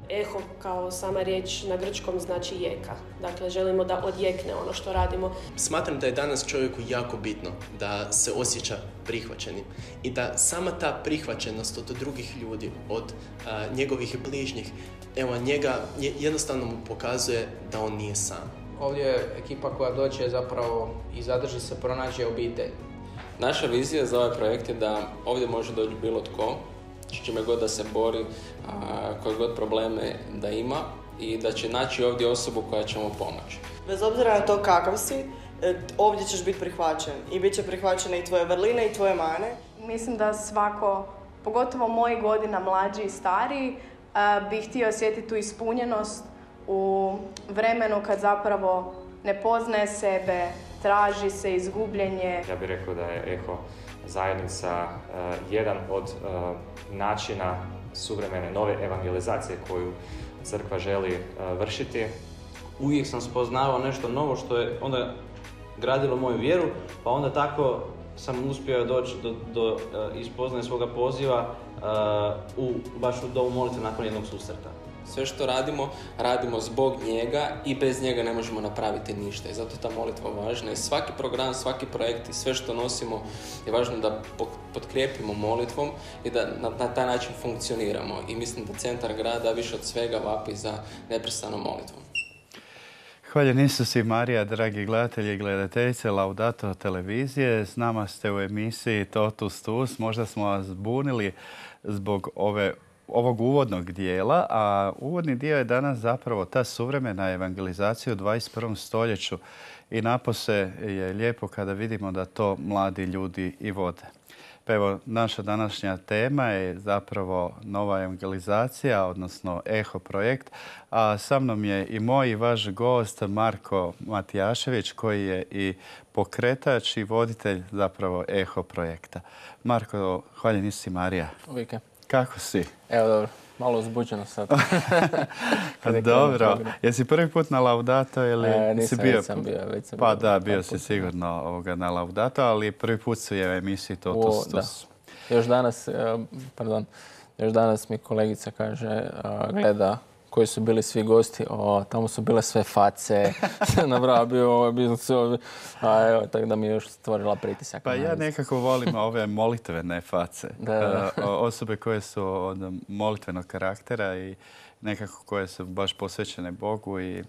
Eho kao sama riječ na grčkom znači jeka. Dakle, želimo da odjekne ono što radimo. Smatram da je danas čovjeku jako bitno da se osjeća prihvaćenim i da sama ta prihvaćenost od drugih ljudi, od njegovih bližnjih, evo, njega jednostavno mu pokazuje da on nije sam. Ovdje je ekipa koja dođe zapravo i zadrži se, pronađe obitelj. Naša vizija za ovaj projekt je da ovdje može doći bilo tko, s čime god da se bori, koje god probleme da ima i da će naći ovdje osobu koja će mu pomoći. Bez obzira na to kakav si, ovdje ćeš biti prihvaćen i bit će prihvaćene i tvoje vrline i tvoje mane. Mislim da svako, pogotovo moji godina, mlađi i stariji, bi htio osjetiti tu ispunjenost u vremenu kad zapravo ne poznaje sebe, traži se, izgubljenje. Ja bih rekao da je Eho zajednica jedan od načina suvremene nove evangelizacije koju crkva želi vršiti. Uvijek sam spoznavao nešto novo što je onda gradilo moju vjeru, pa onda tako sam uspio doći do ispoznaje svoga poziva baš u domu molitve nakon jednog susreta. Sve što radimo, radimo zbog njega i bez njega ne možemo napraviti ništa. I zato je ta molitva važna. I svaki program, svaki projekt i sve što nosimo je važno da potkrijepimo molitvom i da na taj način funkcioniramo. I mislim da centar grada više od svega vapi za neprestanom molitvom. Hvaljen Isus i Marija, dragi gledatelji i gledateljice Laudato televizije. S nama ste u emisiji Totus Tuus. Možda smo vas zbunili zbog ovog uvodnog dijela, a uvodni dio je danas zapravo ta suvremena evangelizacija u 21. stoljeću i napose je lijepo kada vidimo da to mladi ljudi i vode. Pa evo, naša današnja tema je zapravo nova evangelizacija, odnosno Eho projekt, a sa mnom je i moj i vaš gost Marko Matijašević, koji je i pokretač i voditelj zapravo Eho projekta. Marko, hvaljen Isus i Marija. Uvijek. Kako si? Evo, dobro. Malo uzbuđeno sad. Dobro. Jesi prvi put na Laudato ili nisam, si bio? Već sam bio. Pa da, bio si sigurno na Laudato, ali prvi put su je u emisiji Totus Tuus. Još danas mi kolegica kaže, gleda koji su bili svi gosti, tamo su bile sve face, nabrava bio evo, tako da mi je još stvorila pritisak. Pa ja nekako volim ove molitvene face. Osobe koje su od molitvenog karaktera i nekako koje su baš posvećene Bogu i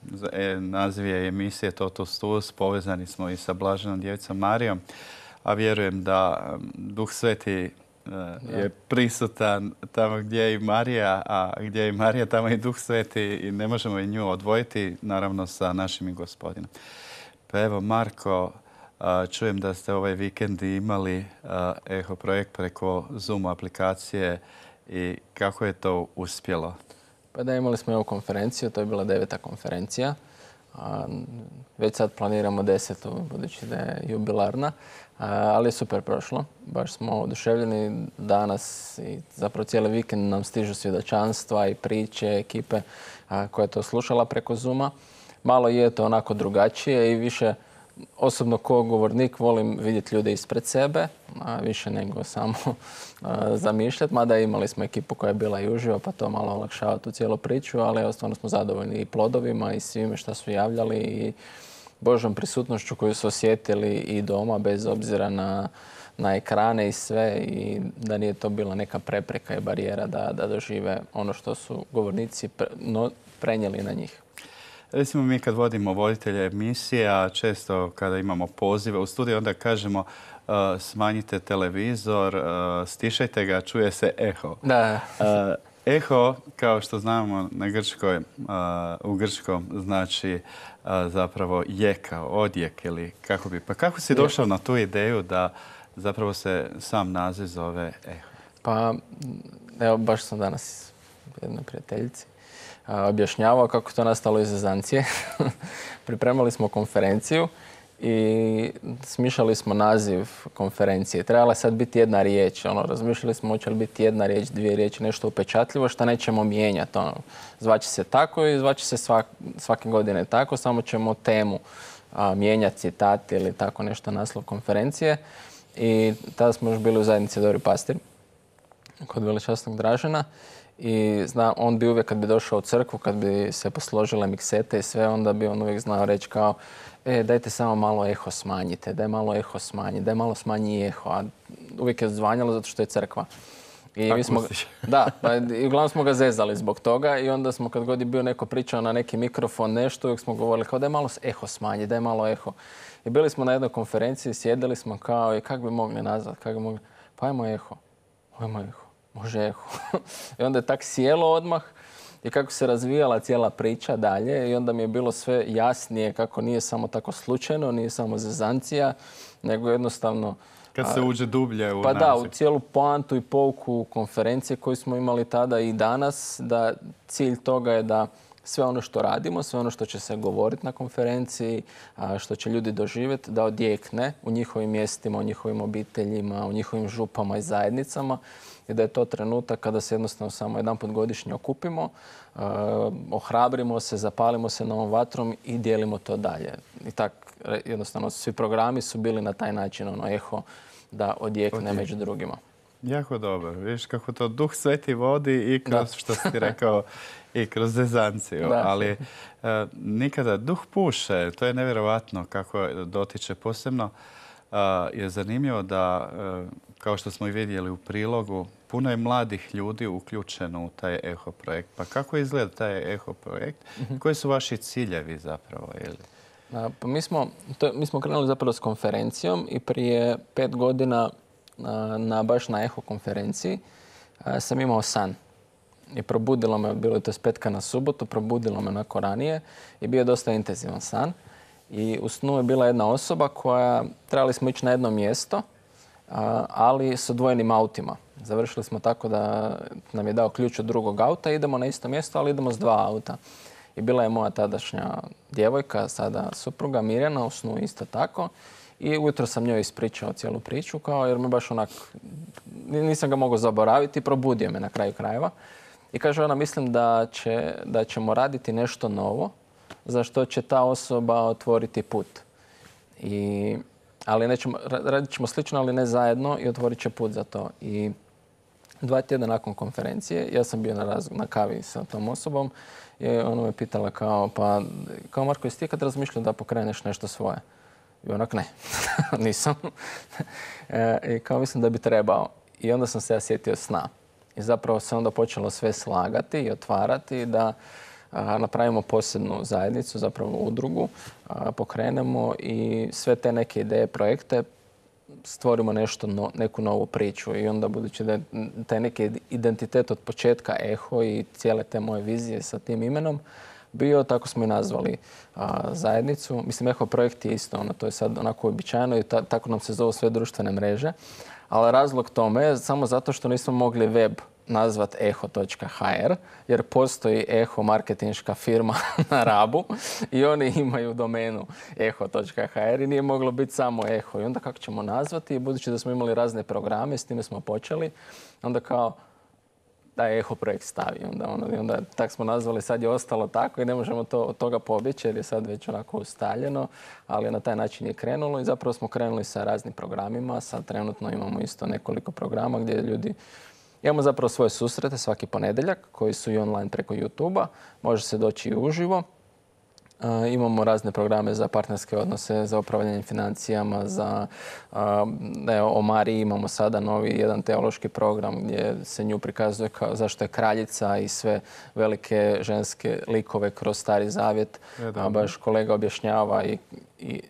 naziv je emisije Totus Tuus. Povezani smo i sa Blaženom Djevicom Marijom, a vjerujem da Duh Sveti je prisutan tamo gdje je i Marija, a gdje je i Marija, tamo je i Duh Sveti i ne možemo i nju odvojiti, naravno sa našim Gospodinom. Pa evo, Marko, čujem da ste ovaj vikend imali Eho projekt preko Zoom aplikacije i kako je to uspjelo? Pa da, imali smo ovu konferenciju, to je bila 9. konferencija. Već sad planiramo 10. budući da je jubilarna. Ali je super prošlo. Baš smo oduševljeni danas i zapravo cijeli vikend nam stižu svjedočanstva i priče ekipe koja je to slušala preko Zooma. Malo je to onako drugačije i više osobno kao govornik volim vidjeti ljude ispred sebe, više nego samo zamišljati. Mada imali smo ekipu koja je bila i uživo pa to malo olakšava tu cijelu priču, ali stvarno smo zadovoljni i plodovima i svime što su javljali i Božom prisutnošću koju su osjetili i doma, bez obzira na ekrane i sve, i da nije to bila neka prepreka i barijera da dožive ono što su govornici prenijeli na njih. Recimo, mi kad vodimo voditelje emisije, a često kada imamo pozive u studiju, onda kažemo smanjite televizor, stišajte ga, čuje se eho. Da. Eho, kao što znamo u grčkom znači zapravo jeka, odjek ili kako bi. Pa kako si došao na tu ideju da zapravo se sam naziv zove Eho? Pa evo, baš sam danas jednoj prijateljici objašnjavao kako to nastalo iz zezancije. Pripremali smo konferenciju i smišljali smo naziv konferencije. Trebala je sad biti jedna riječ. Razmišljali smo hoće li biti jedna riječ, dvije riječi, nešto upečatljivo što nećemo mijenjati. Zvaće se tako i zvaće se svake godine tako, samo ćemo temu mijenjati, citati ili tako nešto, naslov konferencije. I tada smo još bili u zajednici Dobri pastir kod Velečasnog Dražena. I on bi uvijek kad bi došao u crkvu, kad bi se posložile miksete i sve, onda bi on uvijek znao reći kao dajte samo malo eho smanjite, daj malo eho smanji, daj malo smanji eho. A uvijek je zvanjalo zato što je crkva. I mi smo, i uglavnom smo ga zezali zbog toga i onda smo kad god je bio neko pričao na neki mikrofon nešto, uvijek smo govorili kao daj malo eho smanji, daj malo eho. I bili smo na jednoj konferenciji, sjedili smo kao i kako bi mogli nazvati, pa ajmo eho, može eho. I onda je tak sjelo odmah i kako se razvijala cijela priča dalje i onda mi je bilo sve jasnije kako nije samo tako slučajno, nije samo zezancija, nego jednostavno... Kad se uđe dublje u Pa naziv. da, u cijelu poantu i pouku konferencije koju smo imali tada i danas, da cilj toga je da sve ono što radimo, sve ono što će se govoriti na konferenciji, što će ljudi doživjeti, da odjekne u njihovim mjestima, u njihovim obiteljima, u njihovim župama i zajednicama i da je to trenutak kada se jednostavno samo jedanput godišnje okupimo, ohrabrimo se, zapalimo se novom vatrom i dijelimo to dalje. I tak jednostavno svi programi su bili na taj način eho da odjekne među drugima. Jako dobro. Vidiš kako to Duh Sveti vodi i kroz, što si rekao, i kroz zezanciju. Ali nikada Duh puše. To je nevjerovatno kako dotiče. Posebno je zanimljivo da, kao što smo i vidjeli u prilogu, puno je mladih ljudi uključeno u taj eho projekt. Pa kako izgleda taj eho projekt? Koji su vaši ciljevi zapravo? Pa mi smo krenuli zapravo s konferencijom i prije 5 godina baš na eho konferenciji sam imao san. I probudilo me, bilo je to s petka na subotu, probudilo me onako ranije i bio je dosta intenzivan san. I u snu je bila jedna osoba koja, trebali smo ići na jedno mjesto, ali s odvojenim autima. Završili smo tako da nam je dao ključ od drugog auta, idemo na isto mjesto, ali idemo s 2 auta. I bila je moja tadašnja djevojka, sada supruga Mirjana, u snu isto tako. I ujutro sam njoj ispričao cijelu priču, jer me baš onak, nisam ga mogao zaboraviti, probudio me na kraju krajeva. I kaže ona, mislim da ćemo raditi nešto novo, za što će ta osoba otvoriti put. Ali radit ćemo slično, ali ne zajedno i otvorit će put za to. I 2 tjedna nakon konferencije, ja sam bio na kavi sa tom osobom i ona me pitala kao Marko, jesi ti kad razmišljao da pokreneš nešto svoje? I onak ne, nisam. I kao mislim da bi trebao. I onda sam se ja sjetio sna. I zapravo se onda počelo sve slagati i otvarati da napravimo posebnu zajednicu, zapravo udrugu, pokrenemo i sve te neke ideje, projekte stvorimo neku novu priču. I onda budući da je taj neki identitet od početka eho i cijele te moje vizije sa tim imenom bio, tako smo i nazvali zajednicu. Mislim, eho projekt je isto, to je sad onako uobičajeno i tako nam se zovu sve društvene mreže. Ali razlog tome je samo zato što nismo mogli web nazvat eho.hr jer postoji eho marketinška firma na Rabu i oni imaju domenu eho.hr i nije moglo biti samo eho. I onda kako ćemo nazvati? Budući da smo imali razne programe, s time smo počeli, onda kao da eho projekt stavi. Onda tak smo nazvali, sad je ostalo tako i ne možemo od toga pobjeći jer je sad već onako ustaljeno, ali na taj način je krenulo i zapravo smo krenuli sa raznim programima. Sad trenutno imamo isto nekoliko programa gdje ljudi imamo zapravo svoje susrete svaki ponedjeljak koji su i online preko YouTube-a. Može se doći i uživo. Imamo razne programe za partnerske odnose, za upravljanje financijama, o Mariji imamo sada novi jedan teološki program gdje se nju prikazuje zašto je kraljica i sve velike ženske likove kroz Stari Zavjet. Baš kolega objašnjava i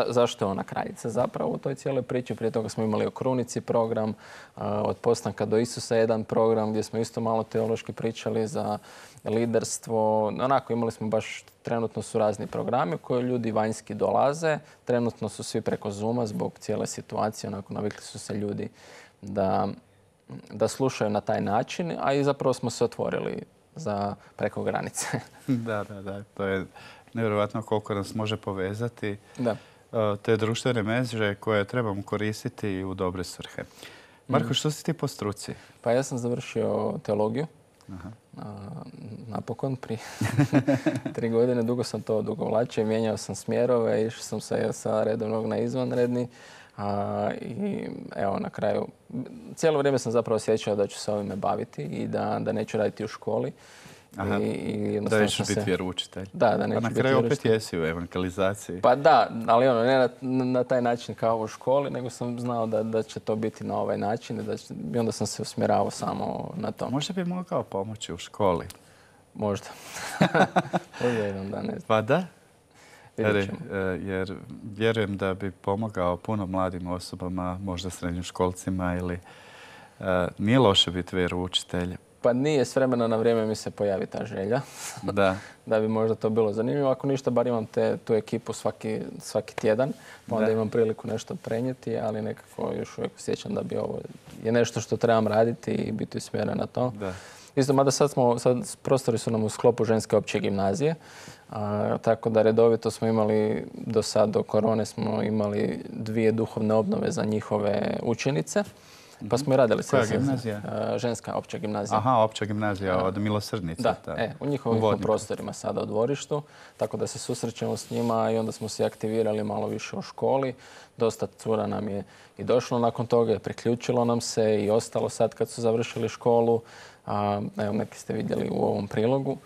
zašto je ona kraljica zapravo u toj cijeloj priči. Prije toga smo imali o krunici program, od postanka do Isusa jedan program gdje smo isto malo teološki pričali za liderstvo. Onako imali smo baš, trenutno su razni programi u koje ljudi vanjski dolaze. Trenutno su svi preko Zooma zbog cijele situacije. Onako navikli su se ljudi da slušaju na taj način, a i zapravo smo se otvorili za preko granice. Da. To je nevjerojatno koliko nas može povezati. Da. Te društvene mreže koje trebamo koristiti u dobre svrhe. Marko, što si ti po struci? Pa ja sam završio teologiju. Napokon prije 3 godine. Dugo sam to odugovlačio i mijenjao sam smjerove. Išao sam sa redovnog na izvanredni. I evo, na kraju, cijelo vrijeme sam zapravo osjećao da ću se ovime baviti i da neću raditi u školi. Aha, da nećeš biti vjeroučitelj. Da neću biti vjeroučitelj. Pa na kraju opet jesi u evangelizaciji. Pa da, ali ne na taj način kao u školi, nego sam znao da će to biti na ovaj način i onda sam se usmjeravao samo na to. Možda bi mogao pomoći u školi. Možda. Možda jedan dan, ne znam. Pa da. Jer vjerujem da bi pomogao puno mladim osobama, možda srednjoškolcima ili nije loše biti vjeroučitelj. Pa nije, s vremena na vrijeme mi se pojavi ta želja. Da bi možda to bilo zanimljivo. Ako ništa, bar imam tu ekipu svaki tjedan, pa onda imam priliku nešto prenijeti, ali nekako još uvijek osjećam da bi ovo je nešto što trebam raditi i biti usmjeren na to. Isto, mada sad prostori su nam u sklopu ženske opće gimnazije, tako da redovito smo imali, do korone smo imali 2 duhovne obnove za njihove učenice. Pa smo i radili se. Koja gimnazija? Ženska opća gimnazija. Aha, opća gimnazija od Milosrdnice. Da, u njihovim prostorima sada u dvorištu, tako da se susrećemo s njima i onda smo se aktivirali malo više u školi. Dosta cura nam je i došlo nakon toga, priključilo nam se i ostalo sad kad su završili školu. Evo, neki ste vidjeli u ovom prilogu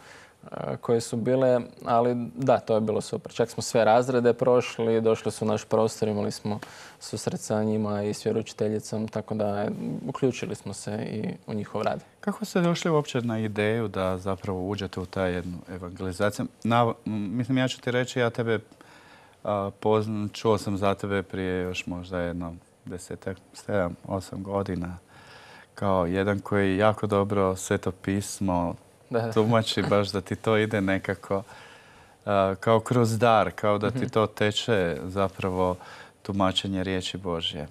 koje su bile, ali da, to je bilo super. Čak smo sve razrede prošli, došli su u naš prostor, imali smo susret sa njima i s vjeroučiteljicom, tako da uključili smo se i u njihov rad. Kako ste došli uopće na ideju da zapravo uđete u taj jednu evangelizaciju? Mislim, ja ću ti reći, ja tebe čuo sam za tebe prije još možda jedno 7-8 godina kao jedan koji jako dobro Sveto pismo tumači, baš da ti to ide nekako kao kroz dar, kao da ti to teče zapravo tumačenje riječi Božje.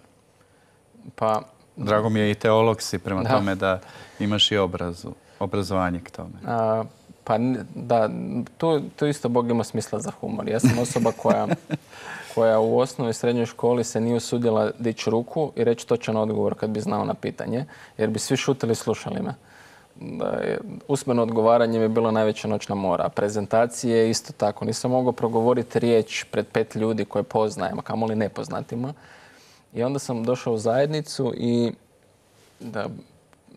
Pa, drago mi je i teolog si, prema tome da imaš i obrazovanje k tome. Pa da, tu isto Bog ima smisla za humor. Ja sam osoba koja u osnovnoj i srednjoj školi se nije usudila dići ruku i reći točan odgovor kad bi znao na pitanje, jer bi svi šutili i slušali me. Usmeno odgovaranje mi je bilo najveća noćna mora. Prezentacije isto tako. Nisam mogao progovoriti riječ pred 5 ljudi koje poznajem, a kamoli nepoznatima. I onda sam došao u zajednicu i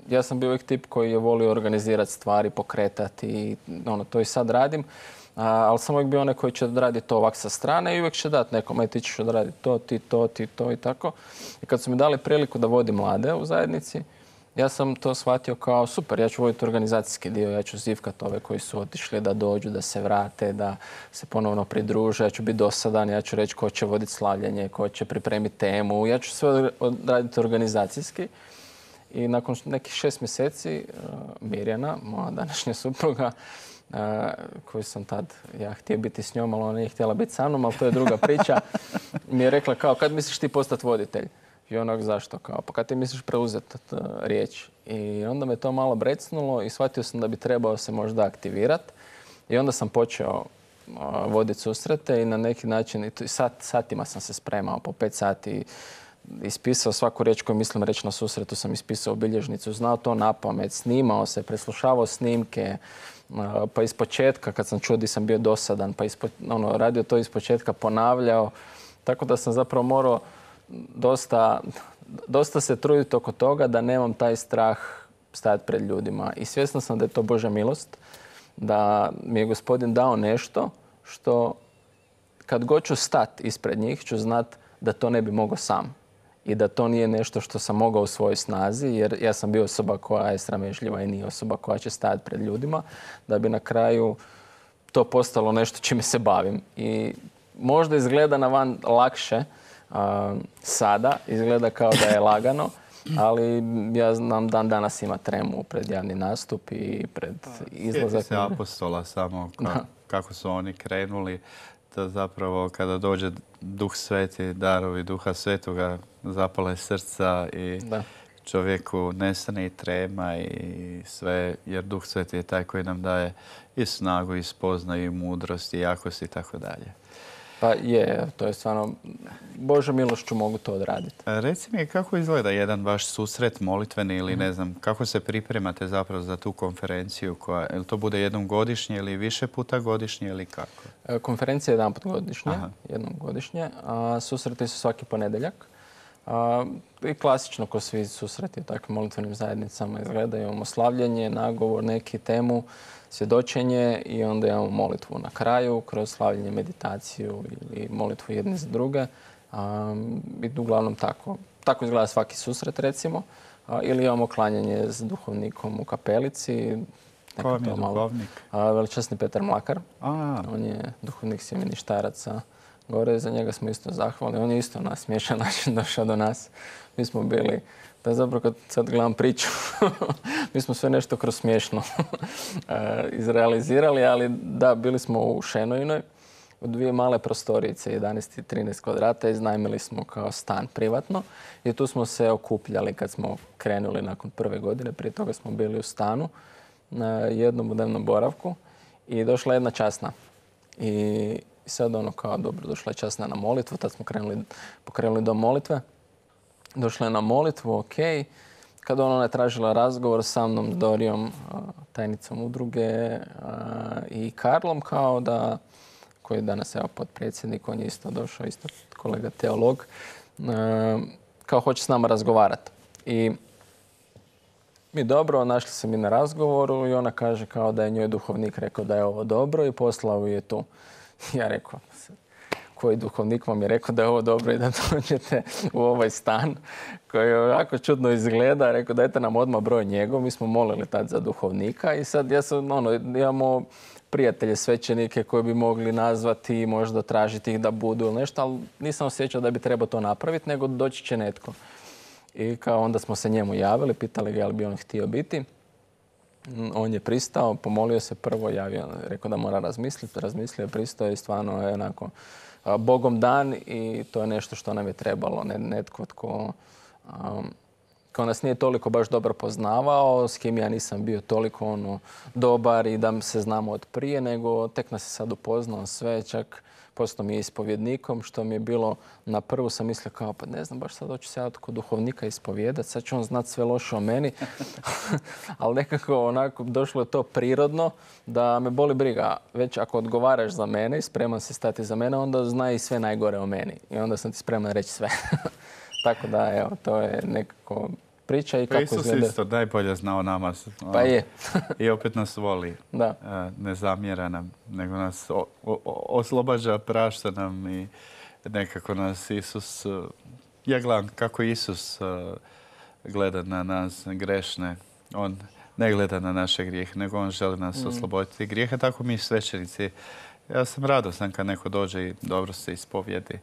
ja sam bio uvijek tip koji je volio organizirati stvari, pokretati i to i sad radim. Ali sam uvijek bio onaj koji će raditi to ovak sa strane i uvijek će dati nekom, ti ćeš odraditi to, ti to i tako. I kad su mi dali priliku da vodim mlade u zajednici, ja sam to shvatio kao super, ja ću voditi organizacijski dio, ja ću zivkati ove koji su otišli da dođu, da se vrate, da se ponovno pridruže, ja ću biti dosadan, ja ću reći ko će voditi slavljenje, ko će pripremiti temu, ja ću sve raditi organizacijski. I nakon nekih 6 mjeseci Mirjana, moja današnja supruga, koju sam tad htio biti s njom, ali ona nije htjela biti sa mnom, ali to je druga priča, mi je rekla kao kad misliš ti postati voditelj? I onak zašto? Kao, pa kad ti misliš preuzeti riječ? I onda me to malo brecnulo i shvatio sam da bi trebao se možda aktivirati. I onda sam počeo voditi susrete i na neki način, satima sam se spremao, po 5 sati ispisao svaku riječ koju mislim reći na susretu, sam ispisao u bilježnicu, znao to napamet, snimao se, preslušavao snimke, pa ispočetka kad sam čuo di sam bio dosadan, pa radio to ispočetka, ponavljao. Tako da sam zapravo morao dosta se truditi oko toga da nemam taj strah stajati pred ljudima. I svjesna sam da je to Božja milost, da mi je Gospodin dao nešto što kad god ću stati ispred njih ću znat da to ne bi mogao sam. I da to nije nešto što sam mogao u svojoj snazi, jer ja sam bio osoba koja je sramežljiva i nije osoba koja će stajati pred ljudima, da bi na kraju to postalo nešto čime se bavim. I možda izgleda na van lakše sada, izgleda kao da je lagano, ali ja znam dan danas ima tremu pred javni nastup i pred izlazak. Sjeti se apostola samo kako su oni krenuli, da zapravo kada dođe Duh Sveti, darovi Duha Svetoga zapale srca i čovjeku nestane i trema i sve, jer Duh Sveti je taj koji nam daje i snagu, i spoznaju, i mudrost, i jakost i tako dalje. Pa je, to je stvarno, Božja milošću mogu to odraditi. Reci mi, kako izgleda jedan vaš susret molitveni ili ne znam, kako se pripremate zapravo za tu konferenciju? Jel to bude jednom godišnje ili više puta godišnje ili kako? Konferencija je jednom godišnje, a susreti su svaki ponedjeljak. I klasično ko svi susreti u takvim molitvenim zajednicama izgledaju. Imamo slavljenje, nagovor, neki temu, svjedočenje i onda imamo molitvu na kraju kroz slavljenje, meditaciju ili molitvu jedne za druge. I uglavnom tako izgleda svaki susret recimo. Ili imamo klanjanje s duhovnikom u kapelici. Ko vam je duhovnik? Veličasni Petar Mlakar. On je duhovnik sjemeništaraca gore. Za njega smo isto zahvalni. On je isto na smiješan način došao do nas. Mi smo bili, da zapravo kad sad gledam priču, mi smo sve nešto kroz smiješno izrealizirali, ali da, bili smo u Šenojnoj, u 2 male prostorice, 11 i 13 kvadrata, iznajmili smo kao stan privatno i tu smo se okupljali kad smo krenuli nakon prve godine. Prije toga smo bili u stanu na jednom dnevnom boravku i došla jedna časna. I sad kao dobro, došla je časna na molitvu, tad smo pokrenuli do molitve. Došla je na molitvu, ok. Kad ona je tražila razgovor sa mnom, Dorijom, tajnicom udruge i Karlom, koji je danas potpredsjednik, on je isto došao, isto kolega teolog, kao hoće s nama razgovarati. I mi dobro, našli se mi na razgovoru i ona kaže kao da je njoj duhovnik rekao da je ovo dobro i poslao je tu. Ja rekao, koji duhovnik vam je rekao da je ovo dobro i da dođete u ovaj stan koji ovako čudno izgleda. Rekao, dajte nam odmah broj njegov. Mi smo molili tad za duhovnika i sad imamo prijatelje, svećenike koji bi mogli nazvati i možda tražiti ih da budu ili nešto, ali nisam osjećao da bi trebao to napraviti, nego doći će netko. I kao onda smo se njemu javili, pitali ga je li bi on htio biti. On je pristao, pomolio se prvo, javio, rekao da mora razmisliti. Razmislio je, pristao i stvarno je onako Bogom dan i to je nešto što nam je trebalo. Netko tko nas nije toliko baš dobro poznavao, s kim ja nisam bio toliko dobar i da se znamo od prije, nego tek nas je sad upoznao sve, čak postao mi je ispovjednikom, što mi je bilo na prvu sam mislio kao, pa ne znam, baš sad hoću se ja kod duhovnika ispovijedati, sad će on znati sve loše o meni. Ali nekako onako došlo je to prirodno da me boli briga. Već ako odgovaraš za mene i spreman si stati za mene, onda zna i sve najgore o meni. I onda sam ti spreman reći sve. Tako da, evo, to je nekako priča i kako izgleda. Isus isto najbolje znao nama. Pa je. I opet nas voli. Da. Ne zamjera nam, nego nas oslobađa, prašta nam i nekako nas Isus... Ja gledam kako Isus gleda na nas grešne. On ne gleda na naše grijehe, nego on želi nas osloboditi grijeha. Tako mi svećenici. Ja sam radostan kad neko dođe i dobro se ispovijedi.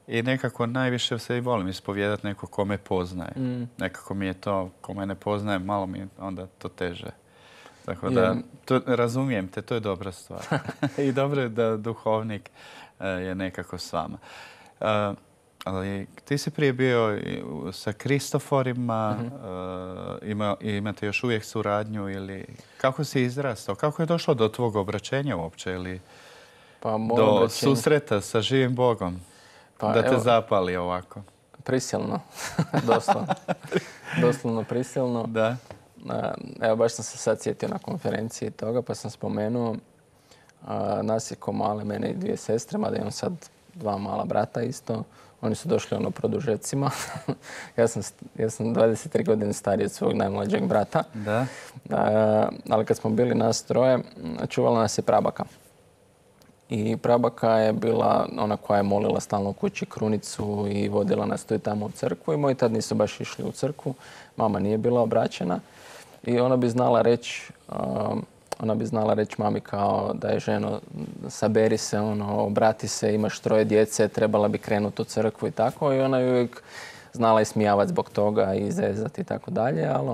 I nekako najviše se i volim ispovijedati neko ko me poznaje. Nekako mi je to, ko me ne poznaje, malo mi je onda to teže. Tako da, razumijem te, to je dobra stvar. I dobro je da duhovnik je nekako s vama. Ali ti si prije bio sa Kristoforima, imate još uvijek suradnju ili kako si izrastao? Kako je došlo do tvog obraćenja uopće ili do susreta sa živim Bogom? Da te zapali ovako. Prisilno. Doslovno prisilno. Da. Evo, baš sam se sad sjetio na konferenciji toga, pa sam spomenuo nas je ko male, mene i 2 sestre, mada imam sad 2 mala brata isto. Oni su došli produžecima. Ja sam 23 godine stariji od svog najmlađeg brata. Da. Ali kad smo bili nas 3, čuvala nas je prabaka. I prabaka je bila ona koja je molila stalno u kući krunicu i vodila nas tu i tamo u crkvu. I moji tad nisu baš išli u crkvu. Mama nije bila obraćena. I ona bi znala reći mami kao da je ženo, saberi se, obrati se, imaš 3 djece, trebala bi krenuti u crkvu i tako. I ona je uvijek znala ismijavati zbog toga i zezati i tako dalje, ali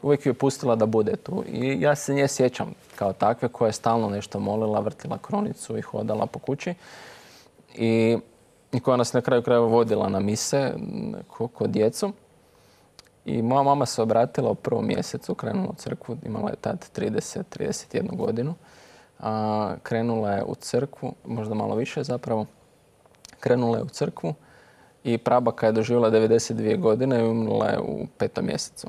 uvijek ju je pustila da bude tu. I ja se nje sjećam kao takve koja je stalno nešto molila, vrtila krunicu i hodala po kući. I koja nas na kraju krajeva vodila na mise kod djecu. I moja mama se obratila u 1. mjesecu, krenula u crkvu, imala je tad 31 godinu. Krenula je u crkvu, možda malo više zapravo, krenula je u crkvu i prabaka je doživjela 92 godine i umrla je u 5. mjesecu.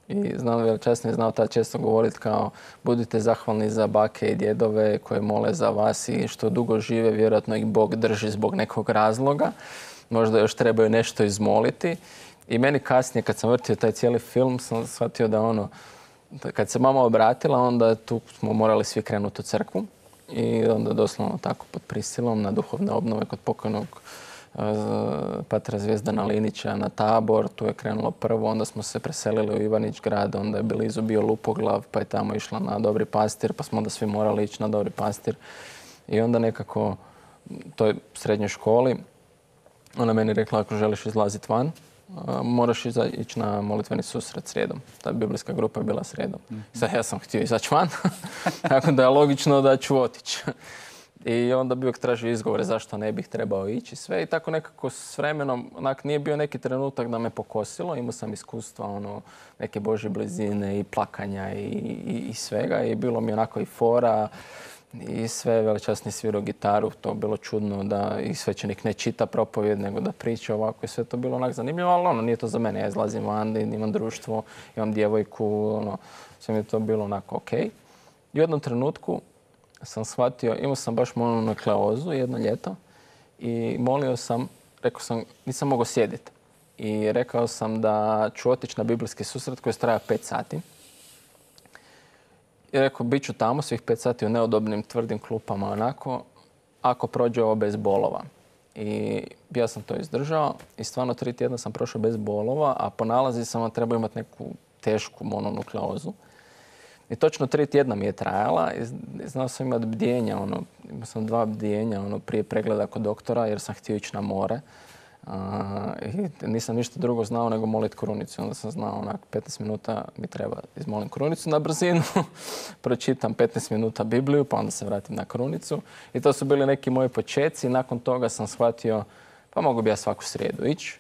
I veličasni je znao tad često govoriti kao budite zahvalni za bake i djedove koje mole za vas i što dugo žive, vjerojatno ih Bog drži zbog nekog razloga. možda još trebaju nešto izmoliti. I meni kasnije, kad sam vrtio taj cijeli film, sam shvatio da kad se mama obratila, onda tu smo morali svi krenuti u crkvu. I onda doslovno tako pod prisilom na duhovne obnove kod pokojnog patra Zvijezdana Linića na Tabor. Tu je krenulo prvo, onda smo se preselili u Ivanić grad, onda je blizu bio Lupoglav, pa je tamo išla na Dobri pastir, pa smo onda svi morali ići na Dobri pastir. I onda nekako u toj srednjoj školi ona meni rekla, ako želiš izlaziti van, moraš ići na molitveni susret srijedom. Ta biblijska grupa je bila srijedom. Sad ja sam htio izaći van, tako da je logično da ću otići. I onda bi uvijek tražio izgovore zašto ne bih trebao ići sve. I tako nekako s vremenom, nije bio neki trenutak da me pokosilo. Imao sam iskustva, neke Božje blizine i plakanja i svega. I bilo mi onako i fora i sve, veličasni svirao gitaru. To je bilo čudno da i svećenik ne čita propovjed, nego da priča ovako. I sve to bilo onak zanimljivo, ali nije to za mene. Ja izlazim van, imam društvo, imam djevojku, sve mi je to bilo onako okej. I u jednom trenutku sam shvatio, imao sam baš mononukleozu jedno ljeto i molio sam, rekao sam, nisam mogao sjediti. I rekao sam da ću otići na biblijski susret koji traja 5 sati. I rekao, bit ću tamo svih 5 sati u neudobnim, tvrdim klupama onako, ako prođe ovo bez bolova. I ja sam to izdržao i stvarno 3 tjedna sam prošao bez bolova, a po nalazi sam trebao imati neku tešku mononukleozu. I točno 3 tjedna mi je trajala i znao sam imati bdjenja, imao sam 2 bdjenja prije pregleda kod doktora jer sam htio ići na more. I nisam ništa drugo znao nego moliti krunicu. Onda sam znao 15 minuta mi treba izmolim krunicu na brzinu, pročitam 15 minuta Bibliju pa onda se vratim na krunicu. I to su bili neki moji počeci. Nakon toga sam shvatio pa mogu bi ja svaku srijedu ići.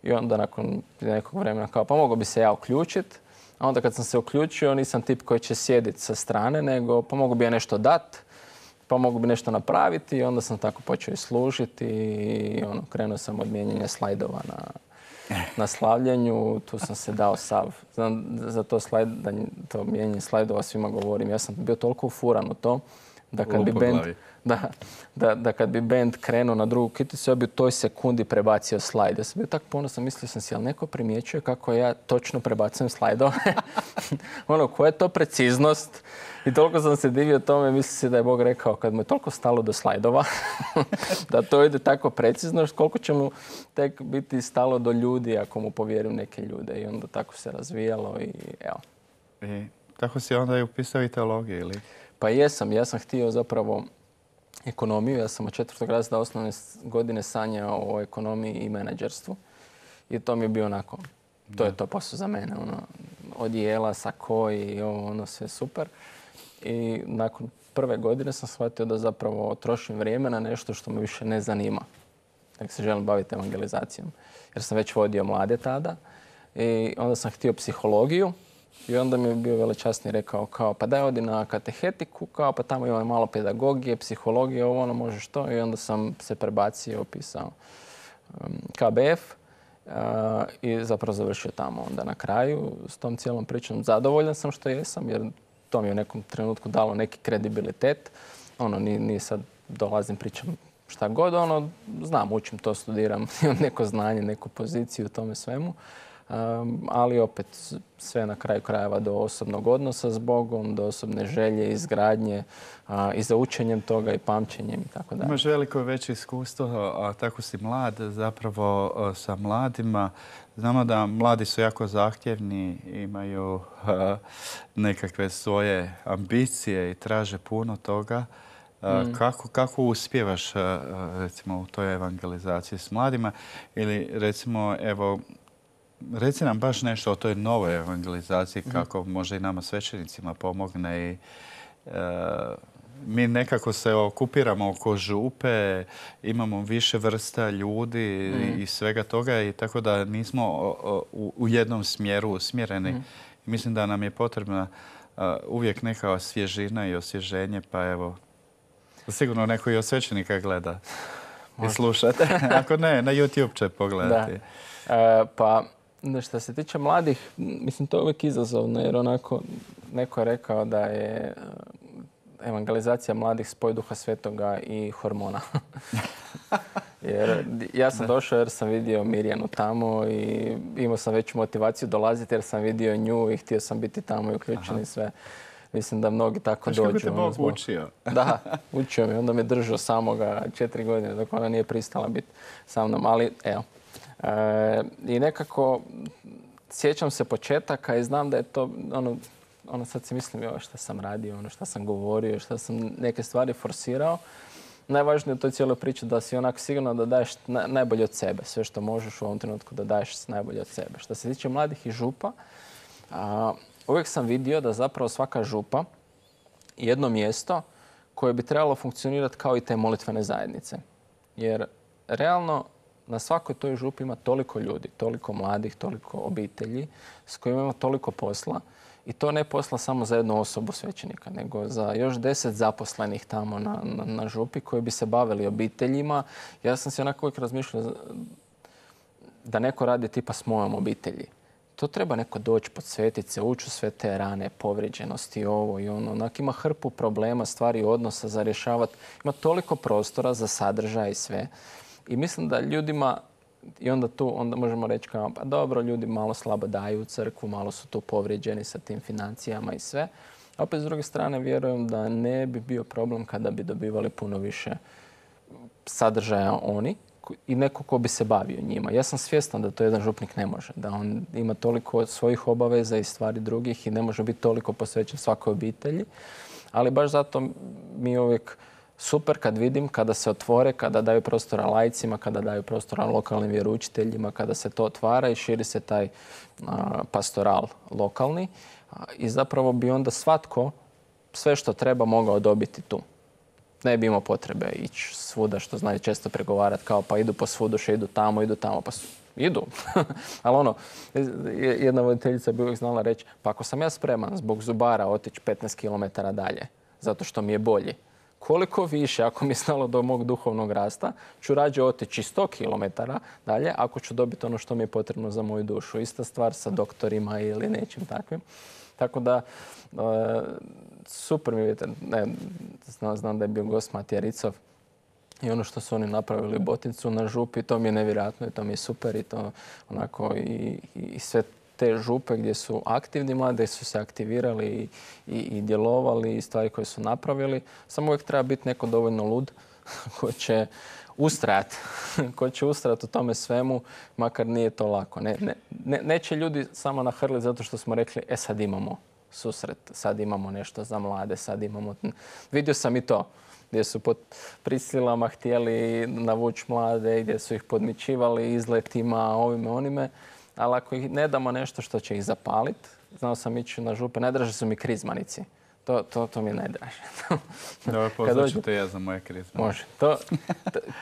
I onda nakon nekog vremena kao pa mogu bi se ja uključiti. A onda kad sam se uključio, nisam tip koji će sjediti sa strane, nego pa mogu bi ja nešto dati, pa mogu bi nešto napraviti i onda sam tako počeo i služiti i krenuo sam od mijenjanja slajdova na slavljenju. Tu sam se dao sav. Za to mijenjanje slajdova svima govorim. Ja sam bio toliko ufuran u to da kad bi band krenuo na drugu kiticu, ja bi u toj sekundi prebacio slajd. Ja sam bio tako ponosan, mislio sam si, ali neko primjećuje kako ja točno prebacujem slajdove. Koja je to preciznost? I toliko sam se divio tome, mislim si da je Bog rekao, kad mu je toliko stalo do slajdova, da to ide tako precizno, koliko će mu tek biti stalo do ljudi ako mu povjerim neke ljude. I onda tako se razvijalo i evo. I tako si onda i upisao i teologiju, ili? Pa jesam. Ja sam htio zapravo ekonomiju. Ja sam od 4. razreda osnovne godine sanjao o ekonomiji i menadžerstvu. I to mi je bio onako, to je to posao za mene. Odijela, sako i sve super. I nakon prve godine sam shvatio da zapravo trošim vrijeme na nešto što me više ne zanima. Dakle, se želim baviti evangelizacijom. Jer sam već vodio mlade tada. I onda sam htio psihologiju. I onda mi je bio veličasni rekao kao pa daj odi na katehetiku, kao pa tamo ima malo pedagogije, psihologije, možeš to. I onda sam se prebacio, opisao KBF i zapravo završio tamo. Onda na kraju s tom cijelom pričom zadovoljan sam što jesam jer to mi je u nekom trenutku dalo neki kredibilitet. Nije sad dolazim, pričam šta god, znam, učim to, studiram, imam neko znanje, neku poziciju u tome svemu. Ali opet sve na kraju krajeva do osobnog odnosa s Bogom, do osobne želje, izgradnje i za učenjem toga i pamćenjem i tako dalje. Imaš veliko veće iskustvo, a tako si mlad zapravo sa mladima. Znamo da mladi su jako zahtjevni, imaju nekakve svoje ambicije i traže puno toga. Kako uspijevaš recimo u toj evangelizaciji s mladima ili recimo evo reci nam baš nešto o toj novoj evangelizaciji, kako može i nama svećenicima pomogne. Mi nekako se okupiramo oko župe, imamo više vrsta ljudi i svega toga i tako da nismo u jednom smjeru usmjereni. Mislim da nam je potrebna uvijek neka svježina i osvježenje, pa evo, sigurno neko i od svećenika gleda i slušate. Ako ne, na YouTube će pogledati. Pa što se tiče mladih, mislim to je uvijek izazovno jer onako neko je rekao da je evangelizacija mladih spoj Duha Svetoga i hormona. Jer ja sam došao jer sam vidio Mirjanu tamo i imao sam veću motivaciju dolaziti jer sam vidio nju i htio sam biti tamo i uključen i sve. Mislim da mnogi tako dođu. Kako te Bog učio? Da, učio mi. Onda me držao samoga 4 godine dok ona nije pristala biti sa mnom. Ali evo. I nekako sjećam se početaka i znam da je to ono sad si mislim šta sam radio, ono šta sam govorio, šta sam neke stvari forsirao. Najvažnije u toj cijeloj priči da si onako sigurno da daješ najbolje od sebe. Sve što možeš u ovom trenutku da daješ najbolje od sebe. Što se tiče mladih i župa, uvijek sam vidio da zapravo svaka župa je jedno mjesto koje bi trebalo funkcionirati kao i te molitvene zajednice. Jer realno na svakoj toj župi ima toliko ljudi, toliko mladih, toliko obitelji s kojima ima toliko posla. I to ne posla samo za jednu osobu svećenika, nego za još 10 zaposlenih tamo na župi koji bi se bavili obiteljima. Ja sam se onako uvijek razmišljao da neko radi tipa s mojom obitelji. To treba neko doći, podsvetiti se, ući u sve te rane, povrijeđenosti, ovo i ono. Onak ima hrpu problema, stvari odnosa za rješavati. Ima toliko prostora za sadržaj i sve. I mislim da ljudima, i onda možemo reći kao, pa dobro, ljudi malo slabo daju u crkvu, malo su tu povrijeđeni sa tim financijama i sve. A opet s druge strane vjerujem da ne bi bio problem kada bi dobivali puno više sadržaja oni i neko ko bi se bavio njima. Ja sam svjestan da to jedan župnik ne može, da on ima toliko svojih obaveza i stvari drugih i ne može biti toliko posvećen svakoj obitelji. Ali baš zato mi uvijek super kad vidim, kada se otvore, kada daju prostora laicima, kada daju prostora lokalnim vjeroučiteljima, kada se to otvara i širi se taj pastoral lokalni. I zapravo bi onda svatko sve što treba mogao dobiti tu. Ne bi imao potrebe ići svuda, što znaju često pregovarati kao pa idu po svuduše, idu tamo, pa idu. Ali jedna voditeljica bi uvijek znala reći, pa ako sam ja spreman zbog zubara otići 15 km dalje, zato što mi je bolji, koliko više, ako mi je stalo do mog duhovnog rasta, ću rađe otići 100 km dalje ako ću dobiti ono što mi je potrebno za moju dušu. Ista stvar sa doktorima ili nečim takvim. Tako da, super mi vidite. Znam da je bio gost Matija Ricov i ono što su oni napravili u Botincu na župi, to mi je nevjerojatno i to mi je super i to onako i sve te župe gdje su aktivni mladi, su se aktivirali i djelovali i stvari koje su napravili. Samo uvijek treba biti neko dovoljno lud ko će ustrajati u tome svemu, makar nije to lako. Neće ljudi samo nahrliti zato što smo rekli, sad imamo susret, sad imamo nešto za mlade, sad imamo... Vidio sam i to, gdje su pod prisilama htjeli navući mlade, gdje su ih podmićivali izletima, ovime, onime. Ali ako ih ne damo nešto što će ih zapaliti, znao sam ići na župe, najdraže su mi krizmanici. To mi je najdraže. Dobro, poznat ću te ja za moje krizme. Može.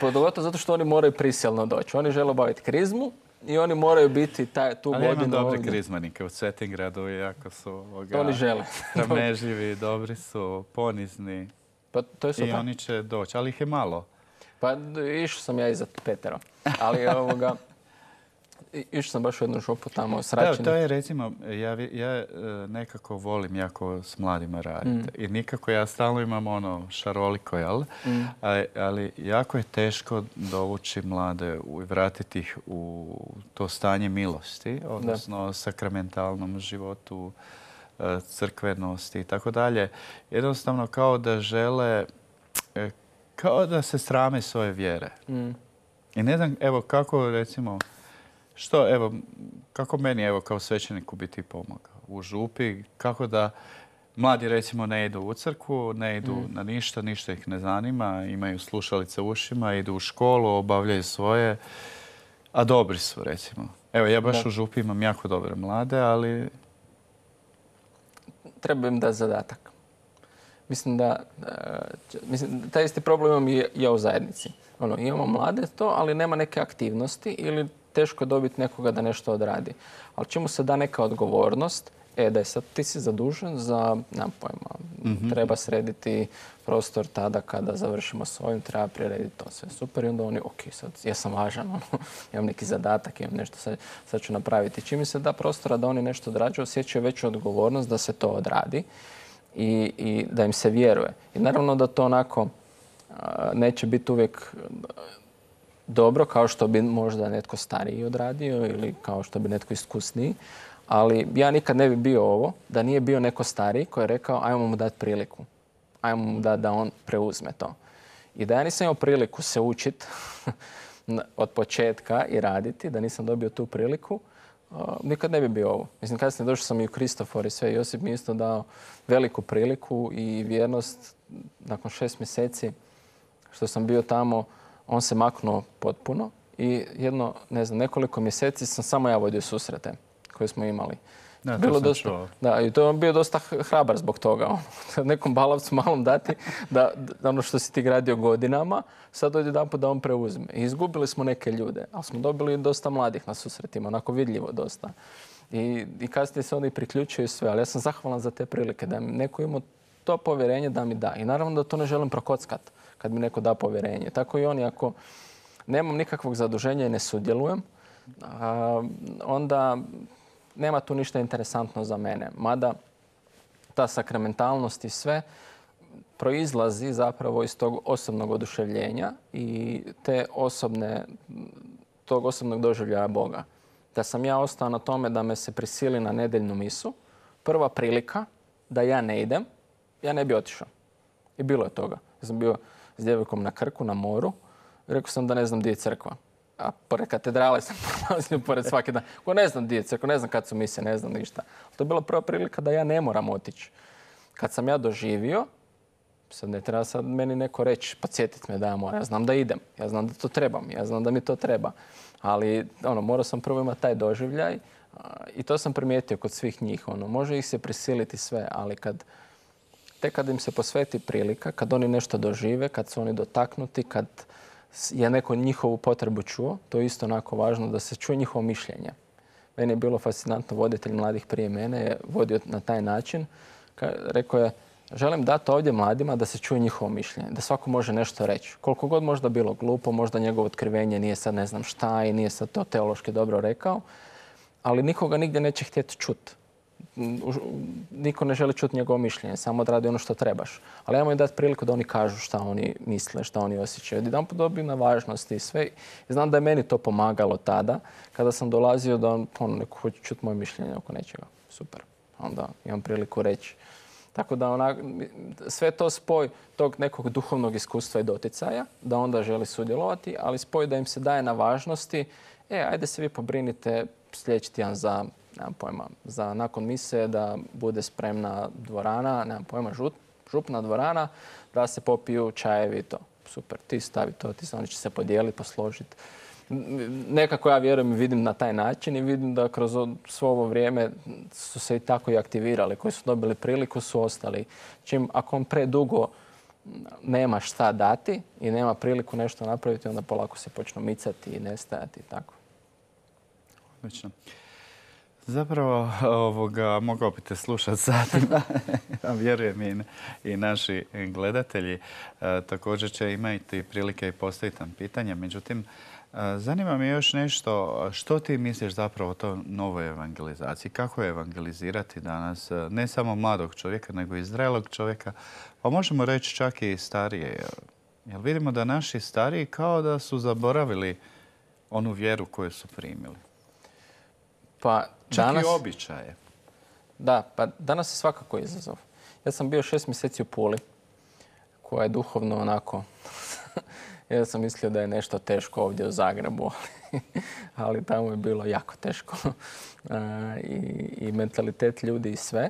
Pogotovo zato što oni moraju prisilno doći. Oni žele obaviti krizmu i oni moraju biti tu godinu ovdje. Ali imam dobre krizmanike u Cetingradu, jako su to oni žele. Rameživi, dobri su, ponizni. Pa to je super. I oni će doći, ali ih je malo. Pa išao sam ja iza Petera. Ali išao sam baš u jednu župu tamo s Račinom. To je recimo, ja nekako volim jako s mladima raditi. I nikako ja stalno imam šaroliko, jel? Ali jako je teško dovući mlade i vratiti ih u to stanje milosti, odnosno sakramentalnom životu, crkvenosti i tako dalje. Jednostavno kao da žele, kao da se srame svoje vjere. I ne znam, evo kako recimo, kako meni kao svećeniku bi ti pomogao u župi, kako da mladi recimo ne idu u crkvu, ne idu na ništa ih ne zanima, imaju slušalice u ušima, idu u školu, obavljaju svoje, a dobri su recimo. Evo ja baš u župi imam jako dobre mlade, ali... Treba im dati zadatak. Mislim da taj isti problem imam i ja u zajednici. Imamo mlade ali nema neke aktivnosti ili teško je dobiti nekoga da nešto odradi. Ali čemu se da neka odgovornost, da je sad ti si zadužen za, nemam pojma, treba srediti prostor tada kada završimo s ovim, treba prirediti to sve super i onda oni, sad ja sam važan, imam neki zadatak, imam nešto, sad ću napraviti. Čim mi se da prostora da oni nešto odrađuju, osjećaju veću odgovornost da se to odradi i da im se vjeruje. I naravno da to onako neće biti uvijek dobro kao što bi možda netko stariji odradio ili kao što bi netko iskusniji. Ali ja nikad ne bi bio ovo da nije bio neko stariji koji je rekao ajmo mu dati priliku. Ajmo mu dati da on preuzme to. I da ja nisam imao priliku se učiti od početka i raditi, da nisam dobio tu priliku, nikad ne bi bio ovo. Mislim, kasnije došao sam i u Kristofor i sve. Josip mi isto dao veliku priliku i vjernost. Nakon 6 mjeseci što sam bio tamo, on se maknuo potpuno i nekoliko mjeseci sam samo ja vodio susrete koje smo imali. Da, bilo dosta, da, i to je bio dosta hrabar zbog toga. Nekom balavcu malom dati da ono što si ti gradio godinama, sad dođe jedanput da on preuzme. I izgubili smo neke ljude, ali smo dobili dosta mladih na susretima, onako vidljivo dosta. I kasnije se oni priključuju sve, ali ja sam zahvalan za te prilike, da mi neko imao to povjerenje da mi da. I naravno da to ne želim prokockat kad mi neko da povjerenje. Tako i oni, ako nemam nikakvog zaduženja i ne sudjelujem, onda nema tu ništa interesantno za mene. Mada ta sakramentalnost i sve proizlazi zapravo iz tog osobnog oduševljenja i tog osobnog doživljaja Boga. Da sam ja ostao na tome da me se prisili na nedeljnu misu, prva prilika da ja ne idem, ja ne bi otišao. I bilo je toga. Ja sam bio s djevojkom na Krku, na moru. Rekao sam da ne znam gdje je crkva. A pored katedrale sam prolazio pored svaki dan. Ko ne znam gdje je crkva, ne znam kad su mise, ne znam ništa. To je bila prva prilika da ja ne moram otići. Kad sam ja doživio, sad ne treba sad meni neko reći, podsjetiti me da ja moram. Ja znam da idem, ja znam da to trebam, ja znam da mi to treba. Ali morao sam prvo imati taj doživljaj i to sam primijetio kod svih njih. Može ih se prisiliti sve, ali kad im se posveti prilika, kad oni nešto dožive, kad su oni dotaknuti, kad je neko njihovu potrebu čuo, to je isto onako važno da se čuje njihovo mišljenje. Meni je bilo fascinantno, voditelj mladih prije mene je vodio na taj način. Rekao je, želim dati ovdje mladima da se čuje njihovo mišljenje, da svako može nešto reći. Koliko god možda bilo glupo, možda njegovo otkrivenje nije sad ne znam šta i nije sad to teološki dobro rekao, ali nikoga nigdje neće htjeti čuti. Niko ne želi čuti njegovo mišljenje, samo odradi ono što trebaš. Ali ajmo im dati priliku da oni kažu šta oni misle, šta oni osjećaju. Jedanput dobiju na važnosti i sve. I znam da je meni to pomagalo tada, kada sam dolazio da neko hoće čuti moje mišljenje oko nečega. Super. Onda imam priliku reći. Tako da sve to spoj tog nekog duhovnog iskustva i doticaja, da onda želi sudjelovati, ali spoj da im se daje na važnosti. Ajde se vi pobrinite sljedeći tjedan za, nemam pojma, za nakon mise da bude spremna dvorana, nemam pojma, župna dvorana, da se popiju čajevi i to. Super, ti stavi to, oni će se podijeliti, posložiti. Nekako ja vjerujem i vidim na taj način i vidim da kroz svo ovo vrijeme su se i tako i aktivirali. Koji su dobili priliku su ostali. Ako on predugo nema šta dati i nema priliku nešto napraviti, onda polako se počnu micati i nestajati i tako. Odlično. Zapravo, mogao bi te slušati satima, vjerujem i naši gledatelji. Također će imati prilike i postaviti nam pitanja. Međutim, zanima me još nešto. Što ti misliš zapravo o toj novoj evangelizaciji? Kako je evangelizirati danas ne samo mladog čovjeka, nego i zrelog čovjeka? Pa možemo reći čak i starije. Jer vidimo da naši stariji kao da su zaboravili onu vjeru koju su primili. Pa čak i običaje. Da, pa danas je svakako izazov. Ja sam bio 6 mjeseci u Puli, koja je duhovno onako... Ja sam mislio da je nešto teško ovdje u Zagrebu, ali tamo je bilo jako teško. I mentalitet ljudi i sve.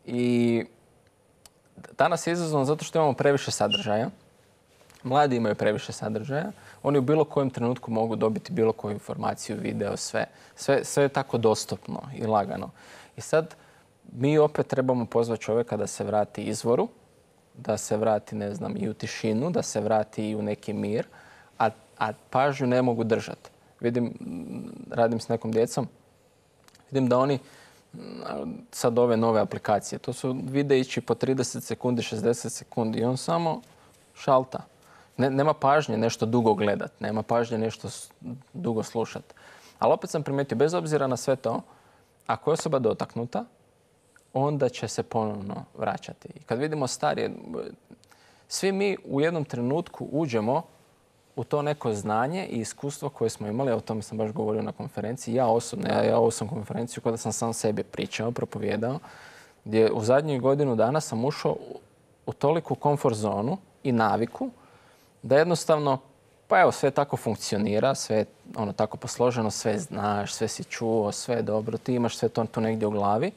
I danas je izazovno zato što imamo previše sadržaja. Mladi imaju previše sadržaja. Oni u bilo kojem trenutku mogu dobiti bilo koju informaciju, video, sve. Sve je tako dostupno i lagano. I sad mi opet trebamo pozvati čovjeka da se vrati izvoru, da se vrati, ne znam, i u tišinu, da se vrati i u neki mir, a pažnju ne mogu držati. Radim s nekom djecom, vidim da oni sad ove nove aplikacije, to su videići po 30 sekundi, 60 sekundi i on samo šalta. Nema pažnje nešto dugo gledat, nema pažnje nešto dugo slušat. Ali opet sam primijetio, bez obzira na sve to, ako je osoba dotaknuta, onda će se ponovno vraćati. I kad vidimo starije, svi mi u jednom trenutku uđemo u to neko znanje i iskustvo koje smo imali, o tome sam baš govorio na konferenciji, ja osobno, ja ovo sam konferenciju kada sam sam sebi pričao, propovijedao, gdje u zadnjih godinu dana sam ušao u toliku komfort zonu i naviku da jednostavno, pa evo, sve tako funkcionira, sve je tako posloženo, sve znaš, sve si čuo, sve je dobro, ti imaš sve to tu negdje u glavi,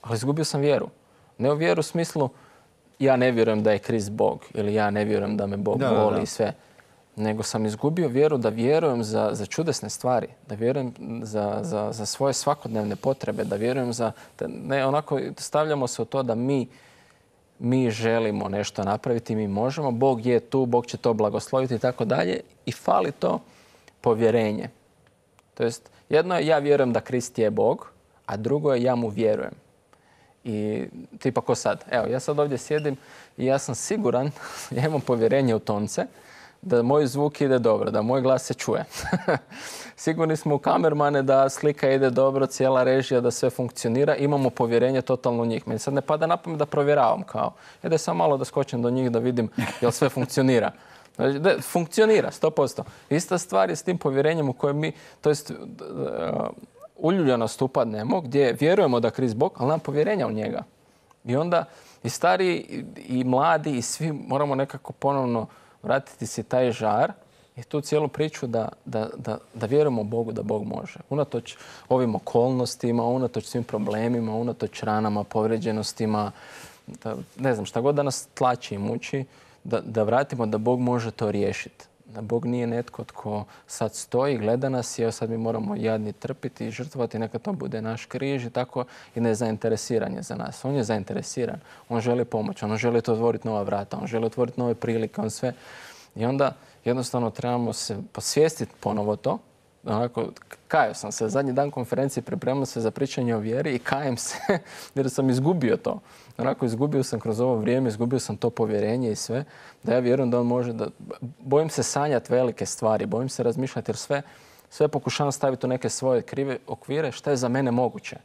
ali izgubio sam vjeru. Ne u vjeru u smislu ja ne vjerujem da je Krist Bog ili ja ne vjerujem da me Bog voli i sve, nego sam izgubio vjeru da vjerujem za čudesne stvari, da vjerujem za svoje svakodnevne potrebe, da vjerujem ne, onako stavljamo se u to da mi želimo nešto napraviti, mi možemo, Bog je tu, Bog će to blagosloviti i tako dalje i fali to povjerenje. To jest, jedno je ja vjerujem da Krist je Bog, a drugo je ja mu vjerujem. I tipa ko sad? Evo, ja sad ovdje sjedim i ja sam siguran, ja imam povjerenje u tonce, da moj zvuk ide dobro, da moj glas se čuje. Sigurni smo u kamermane da slika ide dobro, cijela režija, da sve funkcionira. Imamo povjerenje totalno u njih. Meni sad ne pada na pamet da provjeravam kao. Da sam malo da skočim do njih da vidim jel sve funkcionira. Funkcionira, 100%. Ista stvar je s tim povjerenjem u kojem mi, to jest uljuljanost upadnemo, gdje vjerujemo da Krist Bog, ali nam povjerenja u njega. I onda i stari i mladi i svi moramo nekako ponovno vratiti si taj žar i tu cijelu priču da vjerujemo Bogu da Bog može. Unatoč ovim okolnostima, unatoč svim problemima, unatoč ranama, povrijeđenostima, ne znam, šta god da nas tlači i muči, da vratimo da Bog može to riješiti. Da Bog nije netko tko sad stoji, gleda nas i evo sad mi moramo jadni trpiti i žrtvovati, neka to bude naš križ i tako i nezainteresiran je za nas. On je zainteresiran, on želi pomoć, on želi to otvoriti nova vrata, on želi otvoriti nove prilike, on sve. I onda jednostavno trebamo se posvijestiti ponovo to. Onako, kajao sam se, zadnji dan konferencije pripremao se za pričanje o vjeri i kajem se jer sam izgubio to. Onako, izgubio sam kroz ovo vrijeme, izgubio sam to povjerenje i sve. Da ja vjerujem da on može bojim se sanjati velike stvari, bojim se razmišljati jer sve pokušavam staviti u neke svoje krive okvire šta je za mene moguće.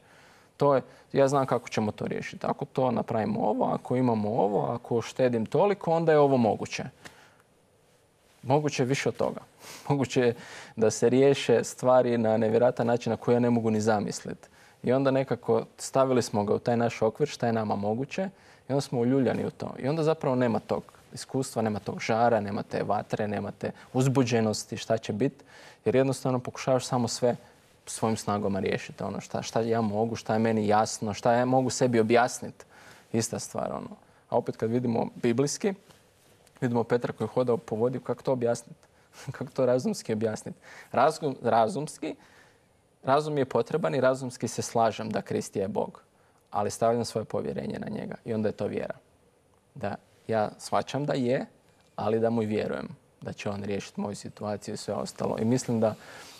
Ja znam kako ćemo to riješiti. Ako to napravimo ovo, ako imamo ovo, ako štedim toliko, onda je ovo moguće. Moguće je više od toga. Moguće je da se riješe stvari na nevjerojatan način na koji ja ne mogu ni zamisliti. I onda nekako stavili smo ga u taj naš okvir šta je nama moguće i onda smo uljuljani u to. I onda zapravo nema tog iskustva, nema tog žara, nema te vatre, nema te uzbuđenosti šta će biti. Jer jednostavno pokušavaš samo sve svojim snagama riješiti. Šta ja mogu, šta je meni jasno, šta ja mogu sebi objasniti. Ista stvar. A opet kad vidimo biblijski, vidimo Petra koji je hodao po vodi, kako to objasniti? Kako to razumski objasniti? Razum je potreban i razumski se slažem da Krist je Bog, ali stavljam svoje povjerenje na njega i onda je to vjera. Da ja shvaćam da je, ali da mu i vjerujem da će on riješiti moju situaciju i sve ostalo. I mislim da,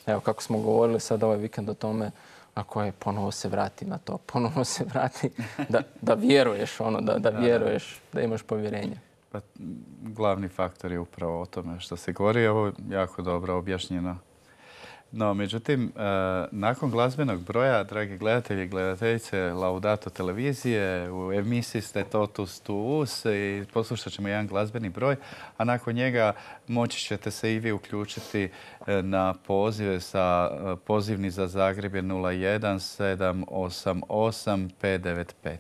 evo kako smo govorili sad ovaj vikend o tome, ako je ponovo se vrati na to, ponovo se vrati da vjeruješ, da vjeruješ, da imaš povjerenje. Pa, glavni faktor je upravo o tome što se govori. Ovo je jako dobro objašnjeno. No, međutim, nakon glazbenog broja, dragi gledatelji i gledateljice Laudato televizije, u emisiji ste Totus Tuus i poslušat ćemo jedan glazbeni broj, a nakon njega moći ćete se i vi uključiti na pozive sa pozivni za Zagreb je 01 788 595.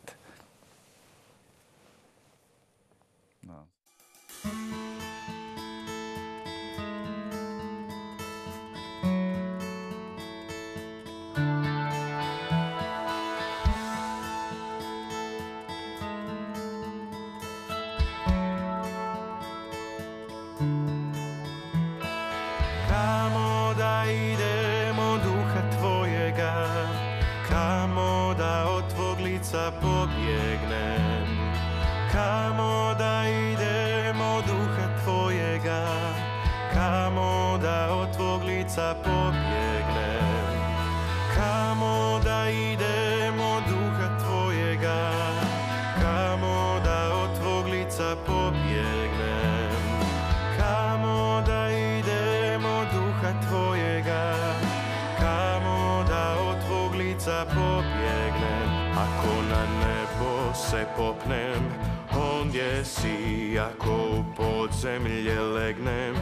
Kamo da idemo duha tvojega, kamo da od tvog lica pobjegnem. Kamo da idemo duha tvojega, kamo da od tvog lica pobjegnem. Kamo da idemo duha tvojega, kamo da od tvog lica pobjegnem. Kamo da idemo duha tvojega, kamo da od tvog lica pobjegnem. Ako na nebo se popnem, ondje si. Ako u podzemlje legnem,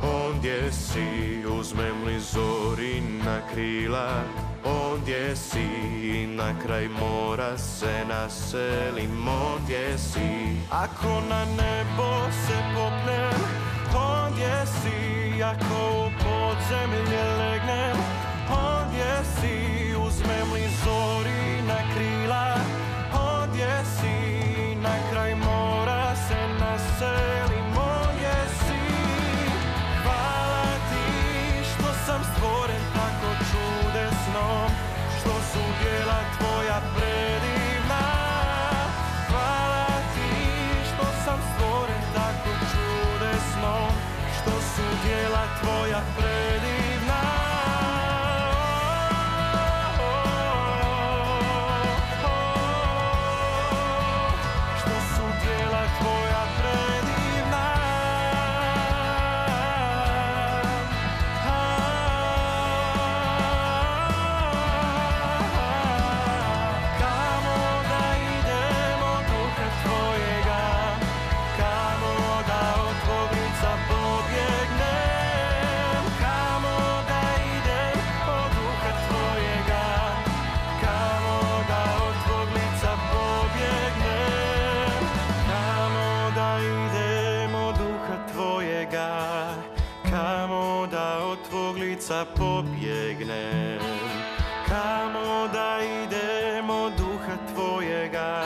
ondje si. Uzmem li zori na krila, ondje si. Na kraj mora se naselim, ondje si. Ako na nebo se popnem, ondje si. Ako u podzemlje legnem, ondje si. Uzmem li zori na krila, ondje si. Na kraj mora se naselim, ondje si. Hvala ti što sam stvoren tako čudesno, što su djela tvoja predivna. Hvala ti što sam stvoren tako čudesno, što su djela tvoja predivna. Što su djela tvoja predivna. Kamo da idemo duha tvojega, kamo da od tvog lica pobjegnem. Kamo da idem od duha tvojega, kamo da od tvog lica pobjegnem. Kamo da idem od duha tvojega, kamo da od tvog lica pobjegnem. Kamo da idem od duha tvojega,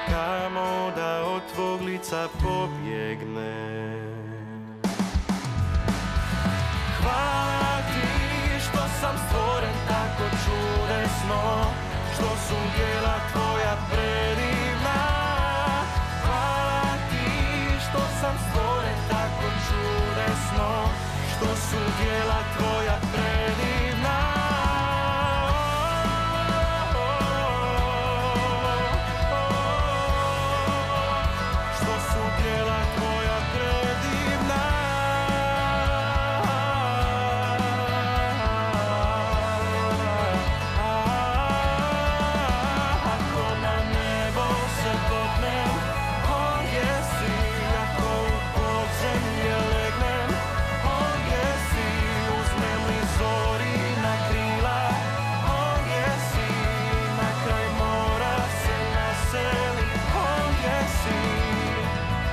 kamo da od tvog lica pobjegnem. Hvala ti što sam stvoren tako čudesno, što su djela tvoja predivna. Hvala ti što sam stvoren tako čudesno, što su djela tvoja predivna. Što su djela tvoja predivna. Ako na nebo se popnem, ondje si. Ako u podzemlje legnem, ondje si. Uzmem li zori na krila, ondje si. Na kraj mora se naselim, ondje si.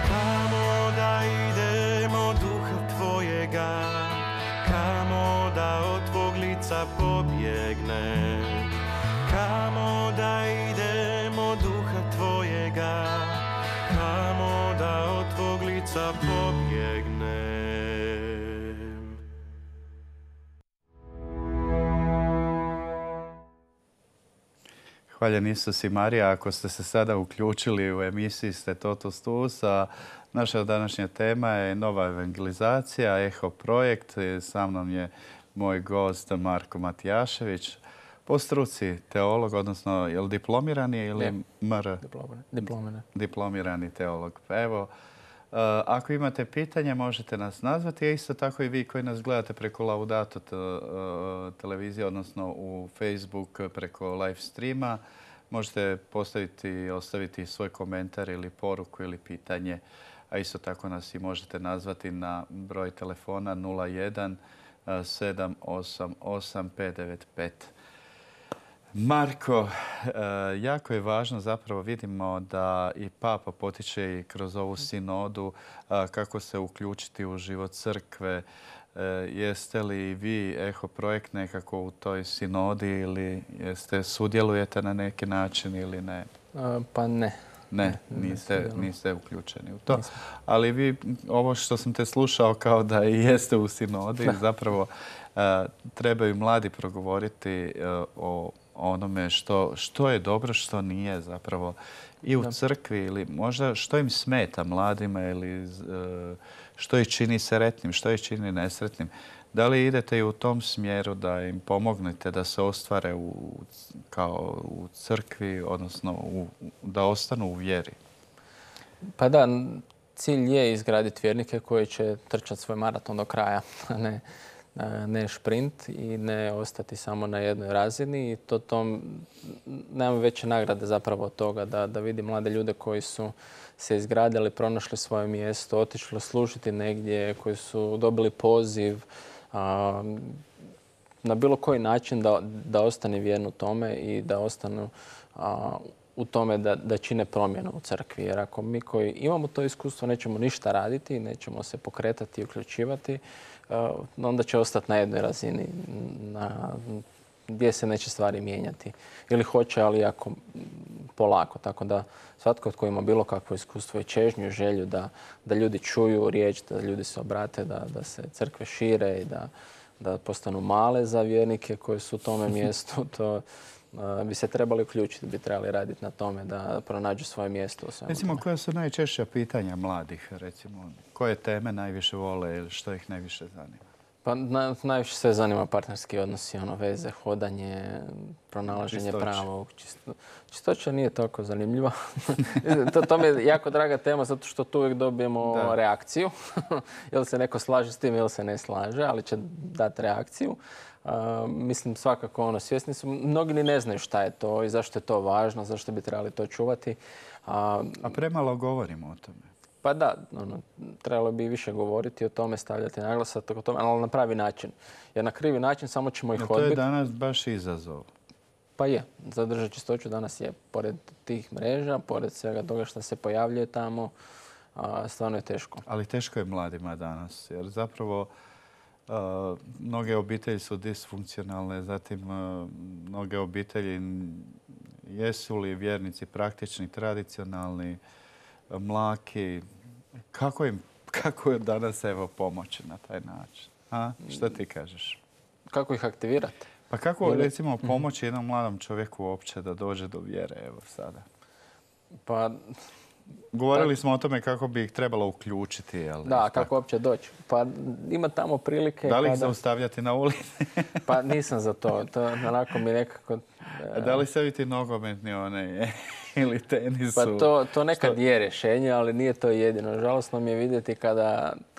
Kamo da idemo duha tvojega, kamo da od tvog lica pobjegnem. Kamo da idemo duha tvojega, kamo da od tvog lica pobjegnem. Hvaljen Isus i Marija, ako ste se sada uključili u emisiji ste Totus Tus, a naša današnja tema je nova evangelizacija, Eho projekt. Sa mnom je moj gost Marko Matijašević, po struci teolog, odnosno je li diplomirani ili MR? Diplomirani teolog. Pa evo, ako imate pitanje možete nas nazvati, a isto tako i vi koji nas gledate preko Laudato televizije, odnosno u Facebook preko live streama, možete ostaviti svoj komentar ili poruku ili pitanje, a isto tako nas i možete nazvati na broj telefona 01 788 595. Marko, jako je važno, zapravo vidimo da i Papa potiče i kroz ovu sinodu kako se uključiti u život crkve. Jeste li vi Eho projekt nekako u toj sinodi ili sudjelujete na neki način ili ne? Pa ne. Ne, niste uključeni u to. Ali vi, ovo što sam te slušao kao da i jeste u sinodi, zapravo trebaju mladi progovoriti o onome što je dobro, što nije zapravo i u crkvi ili možda što im smeta mladima ili što ih čini sretnim, što ih čini nesretnim. Da li idete i u tom smjeru da im pomognete da se ostvare kao u crkvi, odnosno da ostanu u vjeri? Pa da, cilj je izgraditi vjernike koji će trčati svoj maraton do kraja, a ne ne šprint i ne ostati samo na jednoj razini. I nemam veće nagrade zapravo od toga da vidim mlade ljude koji su se izgradili, pronašli svoje mjesto, otišli služiti negdje, koji su dobili poziv na bilo koji način da ostane vjerno tome i da ostanu u tome da čine promjenu u crkvi. Jer ako mi koji imamo to iskustvo nećemo ništa raditi, nećemo se pokretati i uključivati, onda će ostati na jednoj razini gdje se neće stvari mijenjati. Ili hoće, ali jako polako. Tako da svatko tko ima bilo kakvo iskustvo i čežnju, želju da ljudi čuju riječ, da ljudi se obrate, da se crkve šire i da postanu male za vjernike koji su u tome mjestu, to bi se trebali uključiti, bi trebali raditi na tome da pronađu svoje mjesto u svemu. Recimo, koja su najčešća pitanja mladih? Recimo, koje teme najviše vole ili što ih najviše zanima? Pa najviše sve zanima partnerski odnosi, veze, hodanje, pronalaženje pravog. Čistoća nije toliko zanimljiva. To mi je jako draga tema zato što tu uvijek dobijemo reakciju. Jel se neko slaže s tim ili se ne slaže, ali će dati reakciju. Mislim svakako svjesni su. Mnogi ni ne znaju šta je to i zašto je to važno, zašto bi trebali to čuvati. A premalo govorimo o tome. Pa da, trebalo bi više govoriti o tome, stavljati naglasak o tome, ali na pravi način. Jer na krivi način samo ćemo ih odbiti. To je danas baš izazov. Pa je. Zadržati čistoću danas je. Pored tih mreža, pored svega toga što se pojavljuje tamo, stvarno je teško. Ali teško je mladima danas, jer zapravo mnoge obitelji su disfunkcionalne, zatim mnoge obitelji jesu li vjernici praktični, tradicionalni, mlaki. Kako je danas pomoći na taj način? Šta ti kažeš? Kako ih aktivirati? Pa kako recimo pomoći jednom mladom čovjeku uopće da dođe do vjere evo sada? Pa govorili smo o tome kako bi ih trebalo uključiti. Da, kako uopće doći. Pa ima tamo prilike... Da li ih zaustavljati na ulici? Pa nisam za to. To onako mi nekako... Da li staviti nogometni ili tenisu? Pa to nekad je rješenje, ali nije to jedino. Žalosno mi je vidjeti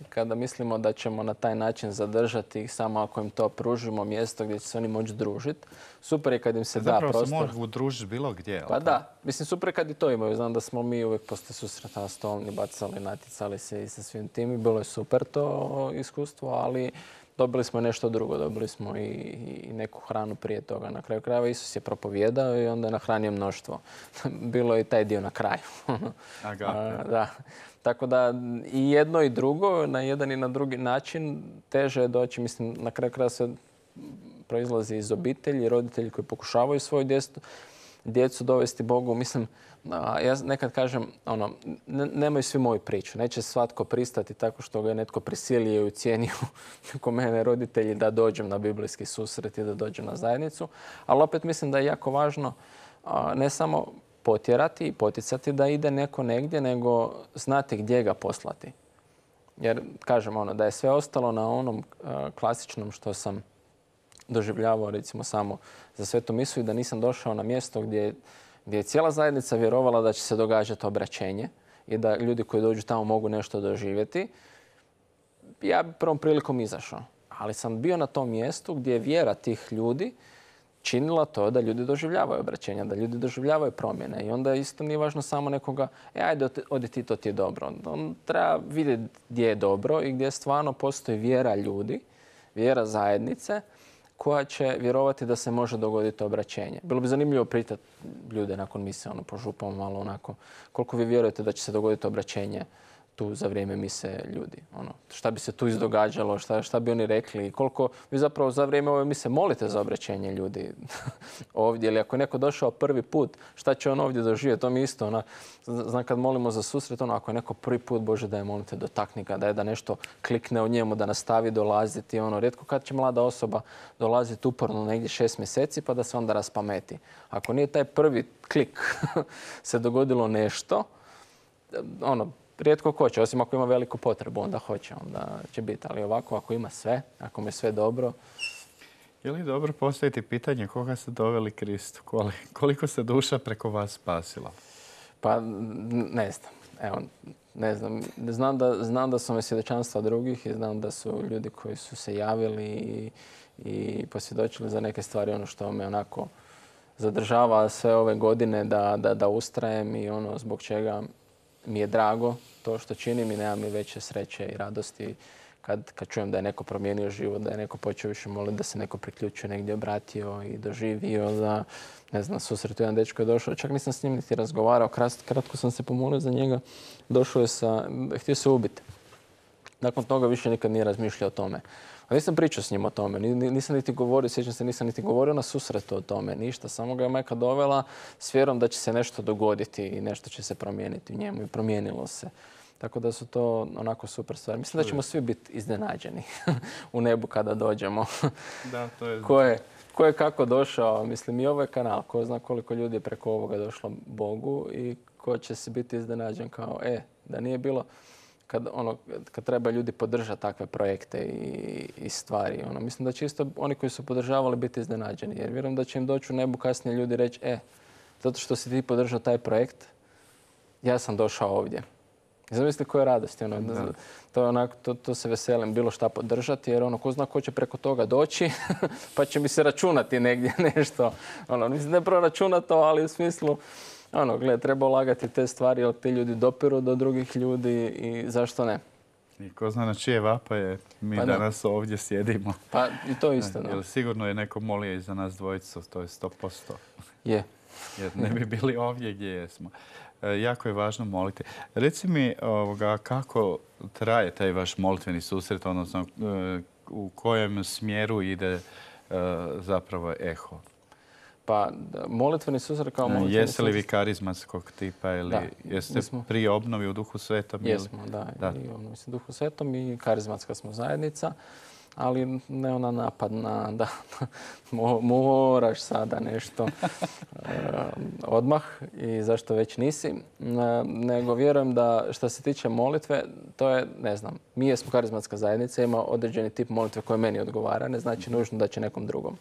kada mislimo da ćemo na taj način zadržati ih samo ako im to pružimo mjesto gdje će se oni moći družiti. Super je kad im se da prostor. Zapravo se mogu družiti bilo gdje. Pa da. Mislim, super je kad i to imaju. Znam da smo mi uvijek poslije susreta stolni bacali, naticali se i sa svim tim. I bilo je super to iskustvo, ali dobili smo nešto drugo. Dobili smo i neku hranu prije toga. Na kraju krajeva Isus je propovijedao i onda je nahranio mnoštvo. Bilo je i taj dio na kraju. Da. Tako da i jedno i drugo, na jedan i na drugi način, teže je doći. Mislim, na kraju krajeva se proizlazi iz obitelji, roditelji koji pokušavaju svoju djecu dovesti Bogu. Mislim, ja nekad kažem, nemaju svi moju priču. Neće svatko pristati tako što ga je netko prisilio i ucijenio ko mene roditelji da dođem na biblijski susret i da dođem na zajednicu. Ali opet mislim da je jako važno ne samo potjerati i poticati da ide neko negdje, nego znati gdje ga poslati. Jer, kažem, da je sve ostalo na onom klasičnom što sam doživljavao, recimo, samo za svetu misu i da nisam došao na mjesto gdje je cijela zajednica vjerovala da će se događati obraćenje i da ljudi koji dođu tamo mogu nešto doživjeti, ja bi prvom prilikom izašao. Ali sam bio na tom mjestu gdje je vjera tih ljudi činila to da ljudi doživljavaju obraćenja, da ljudi doživljavaju promjene. I onda isto nije važno samo nekoga, ajde, odi ti, to ti je dobro. On treba vidjeti gdje je dobro i gdje stvarno postoji vjera ljudi, vjera zajednice, koja će vjerovati da se može dogoditi obraćenje. Bilo bi zanimljivo pitati ljude nakon mise, po župama malo onako, koliko vi vjerujete da će se dogoditi obraćenje tu za vrijeme mise ljudi. Šta bi se tu izdogađalo, šta bi oni rekli, koliko vi zapravo za vrijeme ove mise molite za obraćenje ljudi ovdje. Ili ako je neko došao prvi put, šta će on ovdje doživjeti? To mi isto. Znam kad molimo za susret, ako je neko prvi put, Bože da je molite, dotakni ga, da nešto klikne u njemu, da nastavi dolaziti. Rijetko kad će mlada osoba dolaziti uporno negdje 6 mjeseci pa da se onda raspameti. Ako nije taj prvi klik se dogodilo nešto, rijetko ko će, osim ako ima veliku potrebu, onda hoće, onda će biti. Ali ovako, ako ima sve, ako mu je sve dobro... Je li dobro postaviti pitanje koga ste doveli Kristu? Koliko se duša preko vas spasila? Pa ne znam. evo, ne znam, znam da su me svjedočanstva drugih i znam da su ljudi koji su se javili i posvjedočili za neke stvari, ono što me onako zadržava sve ove godine da ustrajem i ono zbog čega mi je drago to što činim i nemam mi veće sreće i radosti kad čujem da je neko promijenio život, da je neko počeo više moliti, da se neko priključio, negdje obratio i doživio, da, ne znam, susretu jedan dečko je došao, čak nisam s njim niti razgovarao, kratko sam se pomolio za njega, došao je htio se ubiti. Nakon toga više nikad nije razmišljao o tome. A nisam pričao s njim o tome, nisam niti govorio, sjećam se, nisam niti govorio na susretu o tome, ništa. Samo ga je majka dovela s vjerom da će se nešto dogoditi i nešto će se promijeniti u njemu i promijenilo se. Tako da su to onako super stvari. Mislim da ćemo svi biti iznenađeni u nebu kada dođemo. Da, to je... Ko je kako došao, mislim i ovaj kanal, ko zna koliko ljudi je preko ovoga došlo Bogu i ko će se biti iznenađen kao, da nije bilo kad treba ljudi podržati takve projekte i stvari. Mislim da će isto oni koji su podržavali biti iznenađeni. Jer vjerujem da će im doći u nebu kasnije ljudi reći, zato što si ti podržao taj projekt, ja sam došao ovdje. I zamisli koja je radost. To se veselim bilo šta podržati jer ko zna ko će preko toga doći pa će mi se računati negdje nešto. Mislim ne proračunati to, ali u smislu treba ulagati te stvari jer ti ljudi dopiru do drugih ljudi i zašto ne? I ko zna na čije vapaje mi danas ovdje sjedimo. Pa i to isto. Jer sigurno je neko molio i za nas dvojicu, to je 100%. Je. Jer ne bi bili ovdje gdje jesmo. Jako je važno moliti. Reci mi kako traje taj vaš molitveni susret, odnosno u kojem smjeru ide zapravo eho? Pa molitveni susret kao molitveni susret. Jeste li vi karizmatskog tipa ili jeste prije obnovi u Duhu Svetom? Jesmo, da. I obnovi u Duhu Svetom i karizmatska smo zajednica. Ali ne ona napadna da moraš sada nešto odmah i zašto već nisi. Nego vjerujem da što se tiče molitve, to je, ne znam, mi jesmo karizmatska zajednica, ima određeni tip molitve koje meni odgovara, ne znači nužno da će nekom drugom.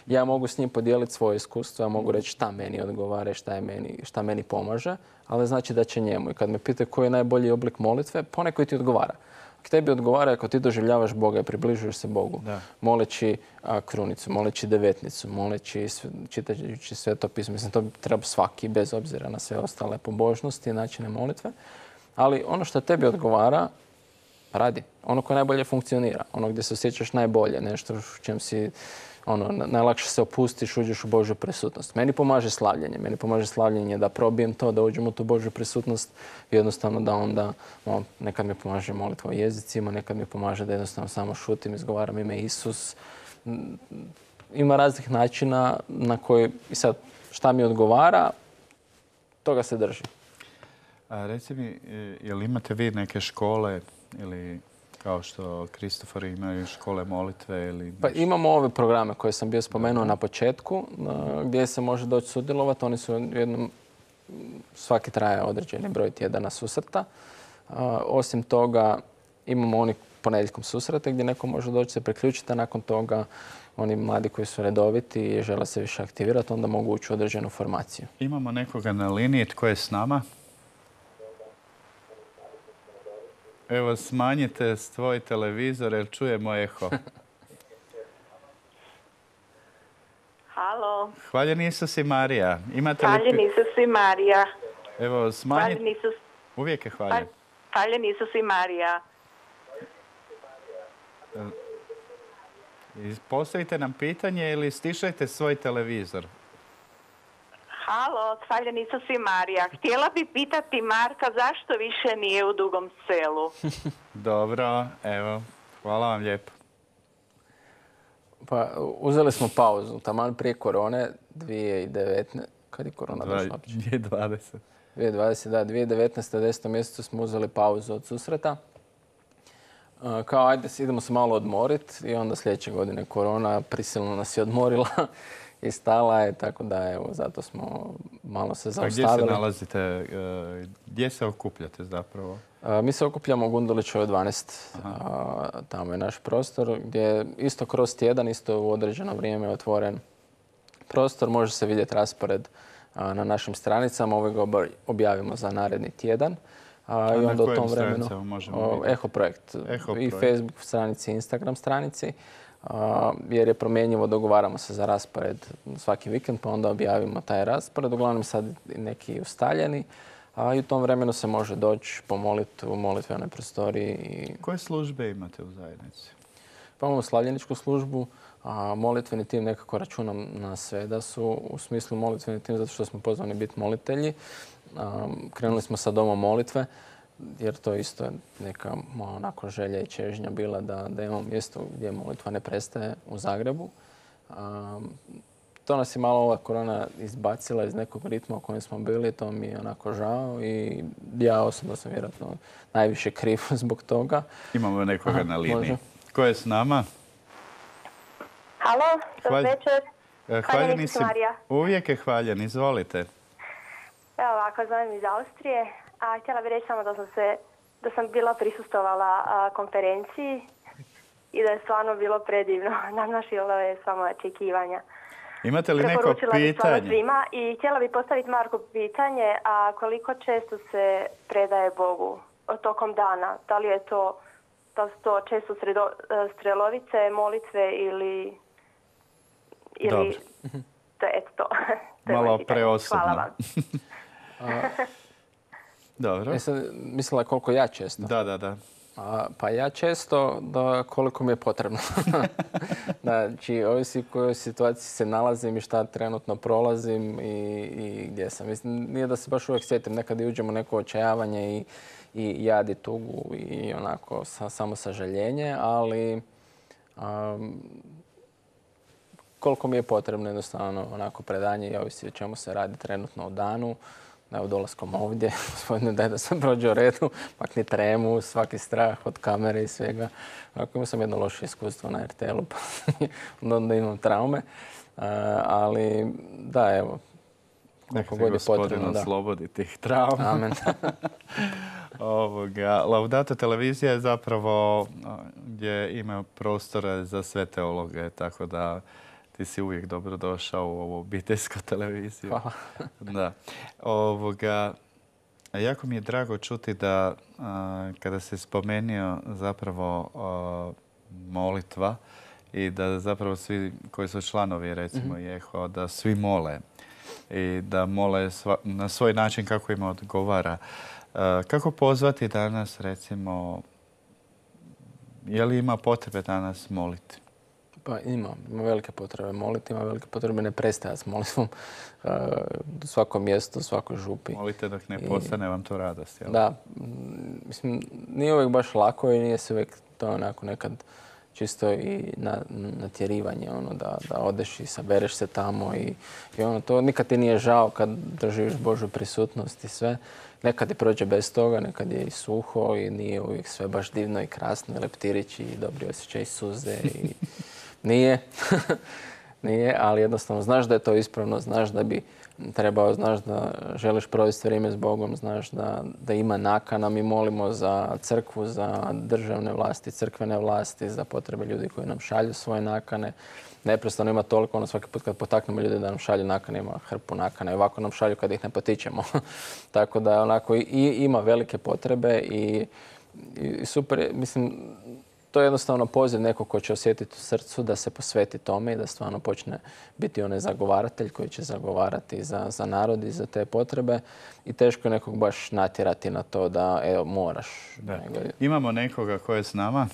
Ja mogu s njim podijeliti svoje iskustvo, ja mogu reći šta meni odgovara, šta meni pomaže, ali znači da će njemu. I kad me pitaju koji je najbolji oblik molitve, poneko ti odgovara. Ako tebi odgovara, ako ti doživljavaš Boga i približuješ se Bogu, moleći krunicu, moleći devetnicu, moleći, čitajući Sveto pismo. Mislim, to treba svaki, bez obzira na sve ostale pobožnosti i načine molitve. Ali ono što tebi odgovara, radi. Ono koje najbolje funkcionira. Ono gdje se osjećaš najbolje. Nešto u čem si najlakše se opustiš, uđeš u Božju prisutnost. Meni pomaže slavljenje. Meni pomaže slavljenje da probijem to, da uđem u tu Božju prisutnost i jednostavno da onda nekad mi pomaže molitva o jezicima, nekad mi pomaže da jednostavno samo šutim, izgovaram ime Isus. Ima raznih načina na koji, i sad, šta mi odgovara, toga se drži. Reci mi, jel imate vi neke škole ili kao što Kristofor imaju škole molitve ili... Pa imamo ove programe koje sam bio spomenuo na početku, gdje se može doći sudjelovati. Oni su svaki traje određeni broj tjedana susreta. Osim toga, imamo oni ponedjeljkom susrete gdje neko može doći se priključiti, a nakon toga oni mladi koji su redoviti i žele se više aktivirati, onda mogu ući u određenu formaciju. Imamo nekoga na liniji, tko je s nama? Evo, smanjite svoj televizor jer čujemo eho. Halo. Hvaljen Isus i Marija. Hvaljen Isus i Marija. Evo, smanjite... Uvijek je hvaljen. Hvaljen Isus i Marija. Postavite nam pitanje ili stišajte svoj televizor. Halo, hvaljen Isus i Marija. Htjela bi pitati Marka zašto više nije u Dugom Selu. Dobro, evo, hvala vam lijepo. Pa uzeli smo pauzu, taman prije korone 2019. Kad je korona došla? 2020. 2020, da, 2019. u 10. mjesecu smo uzeli pauzu od susreta. Kao ajde, idemo se malo odmoriti i onda sljedeće godine korona prisilno nas je odmorila. I stala je, tako da evo, zato smo malo se zaustavili. A gdje se nalazite, gdje se okupljate zapravo? Mi se okupljamo u Gundulićevoj 12. Tamo je naš prostor gdje isto kroz tjedan, isto u određeno vrijeme je otvoren prostor. Može se vidjeti raspored na našim stranicama. Ove ga objavimo za naredni tjedan. I onda u tom vremenu Eho projekt i Facebook stranici i Instagram stranici. Jer je promjenjivo, dogovaramo se za raspored svaki vikend, pa onda objavimo taj raspored. Uglavnom sad neki ustaljeni. A i u tom vremenu se može doći pomoliti u molitvenoj prostoriji. Koje službe imate u zajednici? Pa imamo slavljeničku službu, a molitveni tim nekako računam na sve da su u smislu molitveni tim zato što smo pozvani biti molitelji. Krenuli smo sa domom molitve jer to isto je neka onako želja i čežnja bila da imamo mjesto gdje molitva ne prestaje u Zagrebu. To nas je malo ova korona izbacila iz nekog ritma u kojem smo bili, to mi je onako žao i ja osobno sam vjerojatno najviše kriv zbog toga. Imamo nekoga na liniji. Može. Ko je s nama? Halo, dobro večer. Hvaljeni si. Uvijek je hvaljen, izvolite. Evo ovako, zovem iz Austrije, a htjela bih reći samo da sam bila prisustvovala konferenciji i da je stvarno bilo predivno. Nadmašilo je samo očekivanja. Imate li neko pitanje? Svima i htjela bih postaviti Marku pitanje, a koliko često se predaje Bogu tokom dana? Da li su to često strelovice, molitve ili to je to. Malo preosobno. Hvala vam. Dobro. Mislila koliko ja često? Da. Pa ja često koliko mi je potrebno. Znači, ovisi u kojoj situaciji se nalazim i šta trenutno prolazim i gdje sam. Mislim, nije da se baš uvijek sjetim. Nekad i uđemo u neko očajavanje i jad i tugu i onako samo sažaljenje, ali koliko mi je potrebno jednostavno onako predanje i ovisi o čemu se radi trenutno u danu. Evo, dolaskom ovdje, gospodine, daj da sam prođe u redu, makni tremu, svaki strah od kamere i svega. Imao sam jedno loše iskustvo na RTL-u, pa onda imam traume. Ali, da, evo, koliko god je potrebno. Gospodin oslobodi tih trauma. Amen. Laudato televizija je zapravo gdje ima prostora za sve teologe, tako da ti si uvijek dobro došao u ovu obiteljsku televiziju. Hvala. Da. Jako mi je drago čuti da kada se spomenio zapravo molitva i da zapravo svi koji su članovi recimo Eho, da svi mole i da mole na svoj način kako im odgovara. Kako pozvati danas recimo, je li ima potrebe danas moliti? Pa ima velike potrebe moliti, ima velike potrebe ne prestajati s molitvom u svakom mjestu, u svakoj župi. Molite dok ne postane vam to radost, jel? Da, mislim, nije uvijek baš lako i nije se uvijek to onako nekad čisto i natjerivanje, da odeš i sabereš se tamo i to nikad ti nije žao kad doživiš Božju prisutnost i sve. Nekad ti prođe bez toga, nekad je i suho i nije uvijek sve baš divno i krasno, i leptirići i dobri osjećaj i suze i nije, ali jednostavno znaš da je to ispravno, znaš da bi trebao, znaš da želiš provesti vrijeme s Bogom, znaš da ima nakana. Mi molimo za crkvu, za državne vlasti, crkvene vlasti, za potrebe ljudi koji nam šalju svoje nakane. Neprestano ima toliko, svaki put kad potaknemo ljude da nam šalju nakane, ima hrpu nakana i ovako nam šalju kad ih ne potičemo. Tako da onako ima velike potrebe i super, mislim, to je jednostavno poziv nekog ko će osjetiti u srcu da se posveti tome i da stvarno počne biti onaj zagovaratelj koji će zagovarati za narod i za te potrebe. I teško je nekog baš natjerati na to da moraš. Imamo nekoga ko je s nama.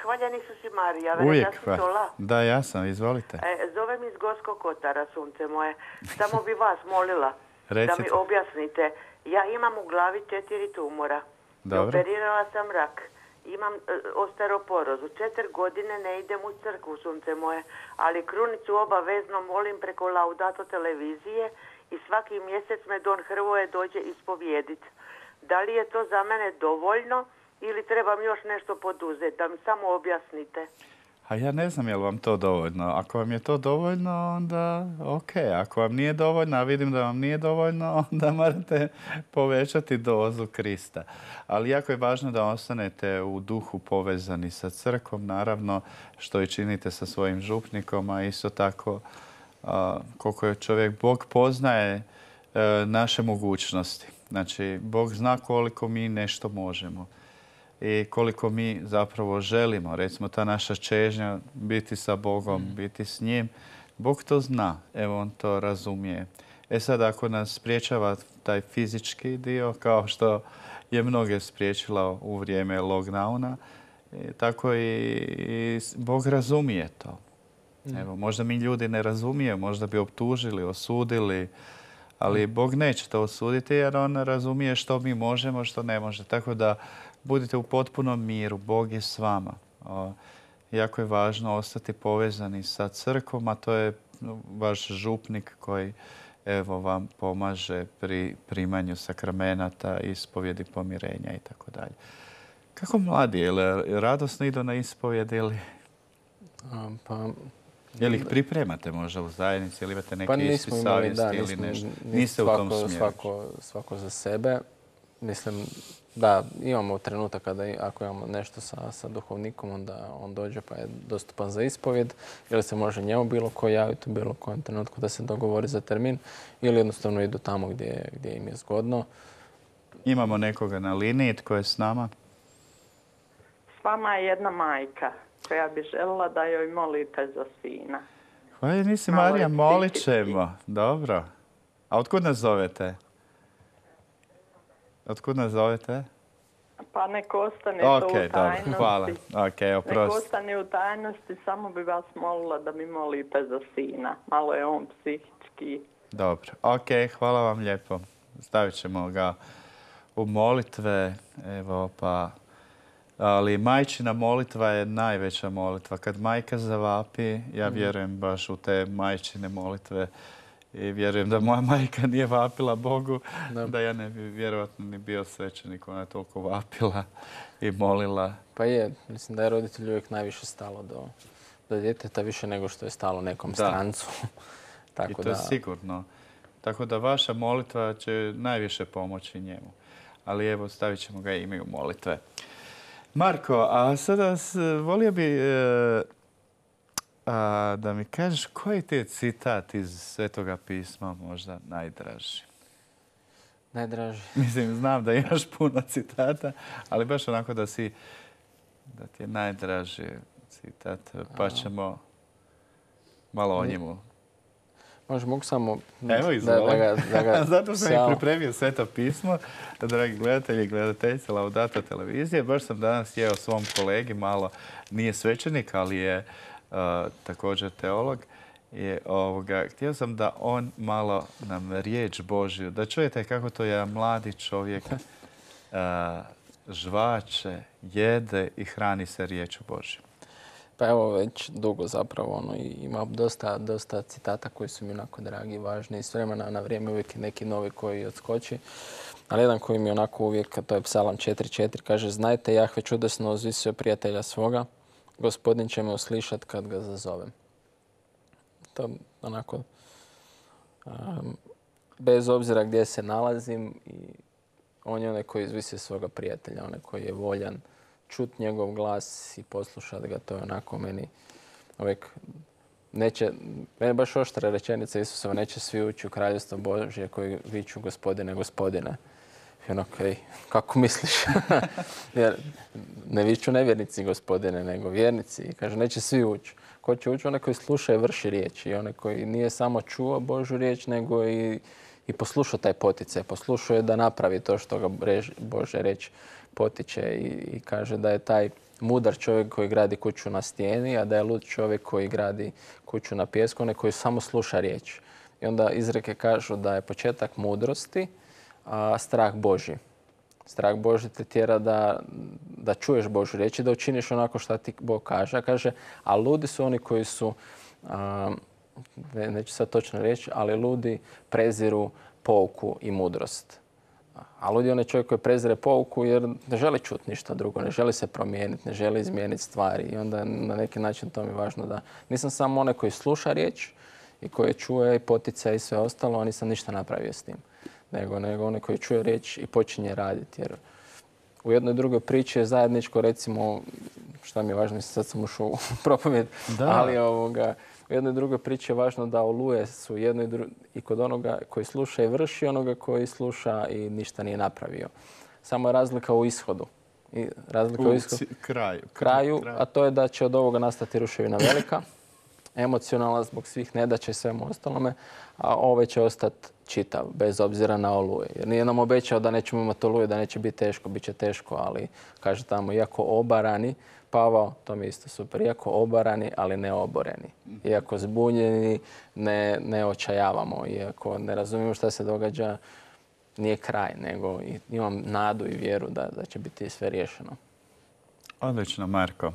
Hvaljeni su si Marija. Uvijek hvala. Da, ja sam, izvolite. Zovem iz Gorskog Kotara, sunce moje. Samo bi vas molila da mi objasnite. Ja imam u glavi 4 tumora. Dobro. Operirala sam rak. Imam osteoporozu. 4 godine ne idem u crkvu, sunce moje, ali krunicu obavezno molim preko Laudato televizije i svaki mjesec me Don Hrvoje dođe ispovijedit. Da li je to za mene dovoljno ili trebam još nešto poduzeti? Da mi samo objasnite. A ja ne znam je li vam to dovoljno. Ako vam je to dovoljno, onda ok. Ako vam nije dovoljno, a vidim da vam nije dovoljno, onda morate povećati dozu Krista. Ali jako je važno da ostanete u duhu povezani sa crkvom, naravno, što i činite sa svojim župnikom, a isto tako koliko je čovjek, Bog poznaje naše mogućnosti. Znači, Bog zna koliko mi nešto možemo i koliko mi zapravo želimo. Recimo, ta naša čežnja biti sa Bogom, biti s njim, Bog to zna. Evo, on to razumije. Sad, ako nas spriječava taj fizički dio, kao što je mnoge spriječila u vrijeme lockdowna, tako i Bog razumije to. Evo, možda mi ljudi ne razumije, možda bi optužili, osudili, ali Bog neće to osuditi jer on razumije što mi možemo, što ne može. Tako da budite u potpunom miru, Bog je s vama. Jako je važno ostati povezani sa crkvom, a to je vaš župnik koji vam pomaže pri primanju sakramenata, ispovjedi, pomirenja i tako dalje. Kako mladi, je li radosno idu na ispovjed ili... Je li ih pripremate možda u zajednici ili imate neki ispit savjesti ili nešto? Niste u tom smjeru? Svako za sebe. Mislim, da, imamo trenutak kada ako imamo nešto sa duhovnikom, onda on dođe pa je dostupan za ispovjed. Ili se može njemu bilo ko javiti u bilo kojem trenutku da se dogovori za termin ili jednostavno idu tamo gdje im je zgodno. Imamo nekoga na liniji, tko je s nama? S vama je jedna majka koja bi željela da joj molite za sina. Hvala, nisi Marija, molit ćemo. Dobro. A otkud nas zovete? Otkud nas zovete? Pa nek ostane to u tajnosti. Dobro, hvala. Nek ostane u tajnosti, samo bi vas molila da mi molite za sina. Malo je on psihički. Dobro, hvala vam lijepo. Stavit ćemo ga u molitve, evo pa... Ali majčina molitva je najveća molitva. Kad majka zavapi, ja vjerujem baš u te majčine molitve i vjerujem da moja majka nije vapila Bogu, da ja ne bi vjerojatno ni bio svećenik. Ona je toliko vapila i molila. Pa je, mislim da je roditelju uvijek najviše stalo do djeteta, više nego što je stalo nekom strancu. I to je sigurno. Tako da vaša molitva će najviše pomoći njemu. Ali evo, stavit ćemo ga ime u molitve. Marko, a sada volio bi da mi kažeš koji ti je citat iz Svetoga pisma možda najdraži? Najdraži? Mislim, znam da imaš puno citata, ali baš onako da ti je najdraži citat, pa ćemo malo o njemu. Možda mogu samo... Evo izvoli. Zato sam i pripremio Sveto pismo. Dragi gledatelji i gledateljice Laudato televizije, baš sam danas jeo svom kolegi, malo nije svećenik, ali je također teolog. Htio sam da on malo nam riječ Božju, da čujete kako to je mladi čovjek žvače, jede i hrani se riječu Božju. Pa evo već dugo zapravo ima dosta citata koji su mi onako dragi i važni. S vremena na vrijeme uvijek je neki novi koji odskoči. Ali jedan koji mi je onako uvijek, to je Psalam 4.4, kaže: znajte, Jahve čudesno uzvisio prijatelja svoga, Gospodin će me uslišat kad ga zazovem. To onako, bez obzira gdje se nalazim, on je onaj koji izvisio svoga prijatelja, onaj koji je voljan čut njegov glas i poslušat ga. To je onako meni uvijek meni baš oštra rečenica Isusova, neće svi ući u kraljevstvo Božje koji viču Gospodine, Gospodine. I ono, kako misliš? Jer ne viču nevjernici Gospodine, nego vjernici. I kaže, neće svi ući. Ko će ući? Onaj koji sluša i vrši riječ. I onaj koji nije samo čuo Božju riječ, nego i poslušao taj poticaj. Poslušao je da napravi to što ga Božja riječ potiče i kaže da je taj mudar čovjek koji gradi kuću na stijeni, a da je lud čovjek koji gradi kuću na pijesku, onaj koji samo sluša riječ. I onda izreke kažu da je početak mudrosti strah Božji. Strah Božji te tjera da čuješ Božju riječ i da učiniš onako što ti Bog kaže. Kaže, a ludi su oni koji su, neću sad točno reći, ali ludi preziru pouku i mudrost. A lud je onaj čovjek koji prezire pouku jer ne želi čuti ništa drugo, ne želi se promijeniti, ne želi izmijeniti stvari. I onda na neki način to mi je važno da nisam samo onaj koji sluša riječ i koji čuje i poticaj i sve ostalo, a nisam ništa napravio s tim. Nego onaj koji čuje riječ i počinje raditi. Jer u jednoj drugoj priči je zajedničko, recimo, šta mi je važno, sad sam ušao u propovjed, ali U jednoj drugoj priči je važno da oluje su jedno i kod onoga koji sluša i vrši, onoga koji sluša i ništa nije napravio. Samo je razlika u ishodu. I razlika u kraju, a to je da će od ovoga nastati ruševina velika, emocionalna zbog svih nedaća i svemu ostalome, a ovaj će ostati čitav, bez obzira na oluje. Jer nije nam obećao da nećemo imati oluje, da neće biti teško, bit će teško, ali kaže tamo, iako obarani, Pavao, to mi je isto super, iako obarani, ali ne oboreni. Iako zbunjeni, ne očajavamo, iako ne razumijemo šta se događa, nije kraj, nego imam nadu i vjeru da će biti sve riješeno. Odlično, Marko.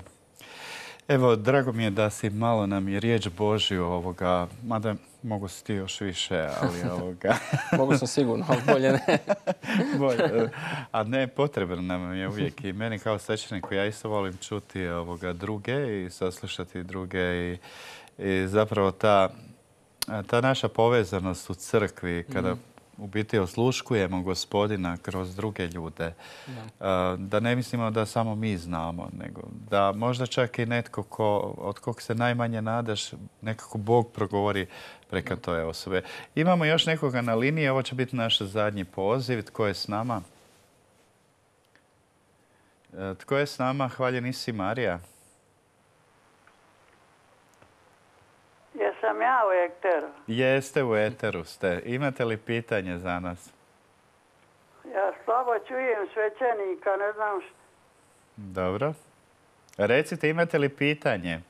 Evo, drago mi je da si malo nam je riječ Božju ovoga, mada mogu si ti još više, ali ovoga... Mogu sam sigurno, ali bolje ne. Bolje. A ne, potrebno nam je uvijek. I meni kao svećeniku, ja isto volim čuti druge i saslušati druge. I zapravo ta naša povezanost u crkvi, kada u biti osluškujemo Gospodina kroz druge ljude. Da ne mislimo da samo mi znamo, nego da možda čak i netko od kog se najmanje nadaš, nekako Bog progovori preko toj osobe. Imamo još nekoga na liniji, ovo će biti naš zadnji poziv. Tko je s nama? Tko je s nama? Hvaljeni si, Marija. Jesam ja u eteru? Jeste, u eteru ste. Imate li pitanje za nas? Ja slabo čujem svećenika, ne znam što. Dobro. Recite, imate li pitanje?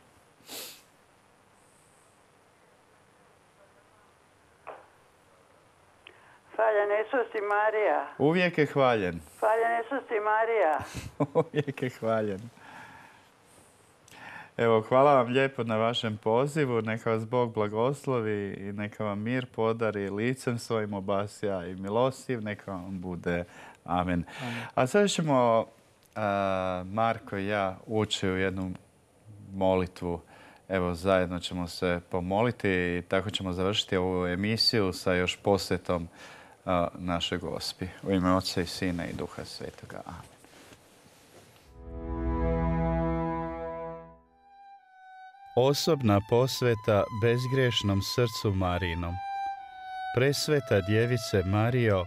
Hvaljen Isus i Marija. Uvijek je hvaljen. Hvaljen Isus i Marija. Uvijek je hvaljen. Evo, hvala vam lijepo na vašem pozivu. Neka vas Bog blagoslovi i neka vam mir podari, licem svojim obasja i milostiv. Neka vam bude. Amen. A sada ćemo, Marko i ja, ući u jednu molitvu. Evo, zajedno ćemo se pomoliti i tako ćemo završiti ovu emisiju sa još posjetom našoj Gospi. U ime Oca i Sina i Duha Svetoga. Amen. Osobna posveta bezgriješnom srcu Marijinom. Presveta djevice Marijo,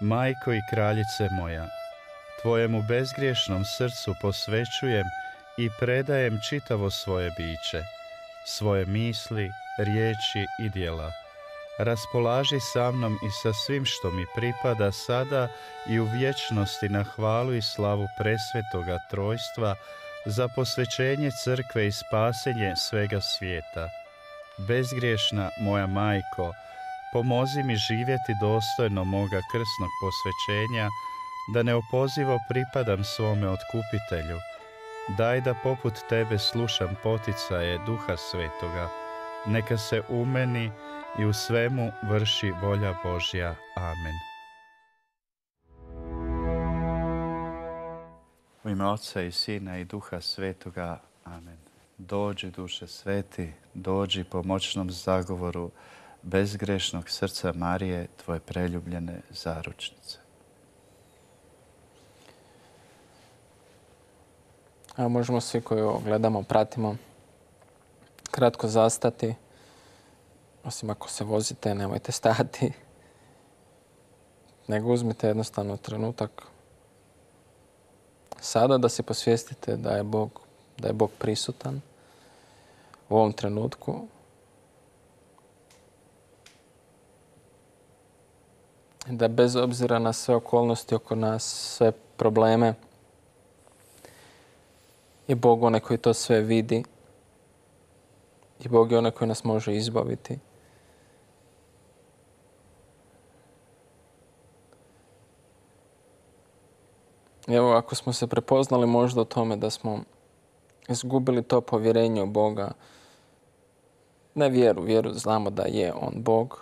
majko i kraljice moja, tvojemu bezgriješnom srcu posvećujem i predajem čitavo svoje biće, svoje misli, riječi i djela. Raspolaži sa mnom i sa svim što mi pripada sada i u vječnosti na hvalu i slavu presvetoga trojstva, za posvećenje crkve i spasenje svega svijeta. Bezgriješna moja majko, pomozi mi živjeti dostojno moga krsnog posvećenja, da neopozivo pripadam svome otkupitelju. Daj da poput tebe slušam poticaje Duha Svetoga. Neka se u meni i u svemu vrši volja Božja. Amen. U ime Oca i Sina i Duha Svetoga. Amen. Dođi, Duše Sveti, dođi po moćnom zagovoru bezgrešnog srca Marije, tvoje preljubljene zaručnice. Evo, možemo svi koji ovo gledamo, pratimo, kratko zastati. Osim ako se vozite, nemojte stati. Nego uzmite jednostavno trenutak sada da si posvijestite da je Bog prisutan u ovom trenutku. Da bez obzira na sve okolnosti oko nas, sve probleme, je Bog onaj koji to sve vidi i Bog je onaj koji nas može izbaviti. Evo, ako smo se prepoznali možda u tome da smo izgubili to povjerenje u Boga, ne vjeru znamo da je On Bog,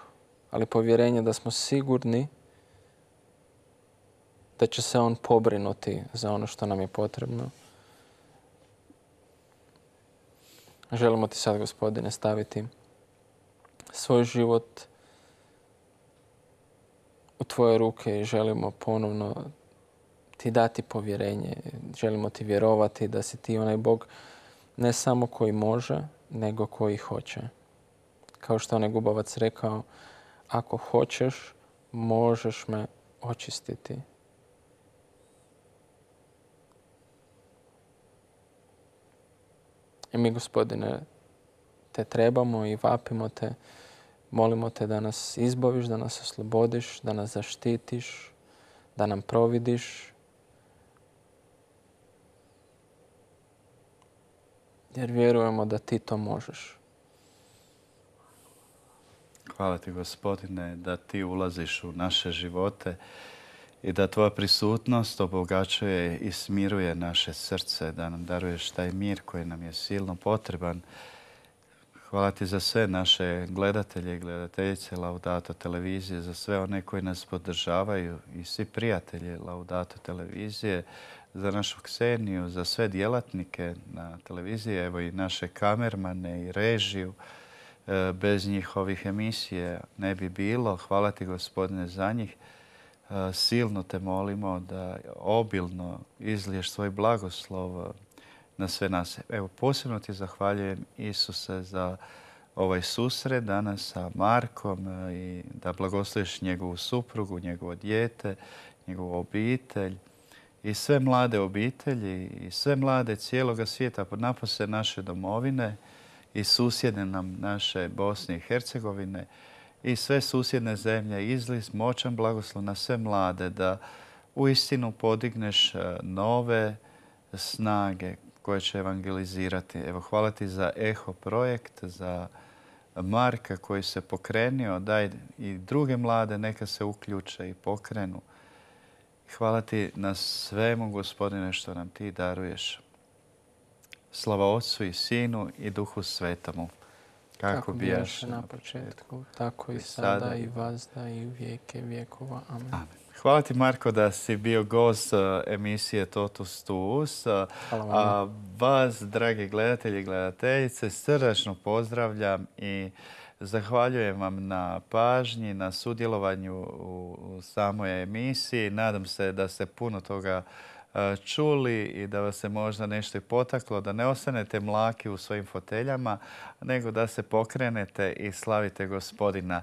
ali povjerenje da smo sigurni da će se On pobrinuti za ono što nam je potrebno. Želimo ti sad, Gospodine, staviti svoj život u tvoje ruke i želimo ponovno ti dati povjerenje. Želimo ti vjerovati da si ti onaj Bog ne samo koji može, nego koji hoće. kao što je onaj Gubavac rekao, ako hoćeš, možeš me očistiti. I mi, Gospodine, te trebamo i vapimo te, molimo te da nas izbaviš, da nas oslobodiš, da nas zaštitiš, da nam providiš. Jer vjerujemo da ti to možeš. Hvala ti, Gospodine, da ti ulaziš u naše živote i da tvoja prisutnost obogaćuje i smiruje naše srce, da nam daruješ taj mir koji nam je silno potreban. Hvala ti za sve naše gledatelje i gledateljice Laudato televizije, za sve one koji nas podržavaju i svi prijatelji Laudato televizije, za našu Kseniju, za sve djelatnike na televiziji, evo i naše kamermane i režiju. Bez njih ovih emisije ne bi bilo. Hvala ti, Gospodine, za njih. Silno te molimo da obilno izliješ svoj blagoslov na sve nas. Evo, posebno ti zahvaljujem, Isuse, za ovaj susret danas sa Markom i da blagosloviš njegovu suprugu, njegovo dijete, njegovu obitelj i sve mlade obitelji i sve mlade cijeloga svijeta, napose naše domovine i susjedne nam naše Bosne i Hercegovine i sve susjedne zemlje. Izli moćan blagoslov na sve mlade da uistinu podigneš nove snage koje će evangelizirati. Evo, hvala ti za Eho projekt, za Marka koji se pokrenio. Daj i druge mlade neka se uključe i pokrenu. Hvala ti na svemu, Gospodine, što nam ti daruješ. Slava Otcu i Sinu i Duhu Svetomu. Kako bijaše na početku, tako i sada i vazda i u vijeke vjekova. Amen. Amen. Hvala ti, Marko, da si bio gost emisije Totus Tuus. A vas, dragi gledatelji i gledateljice, srdačno pozdravljam i zahvaljujem vam na pažnji, na sudjelovanju u samoj emisiji. Nadam se da ste puno toga čuli i da vas se možda nešto i potaklo, da ne ostanete mlaki u svojim foteljama, nego da se pokrenete i slavite Gospodina.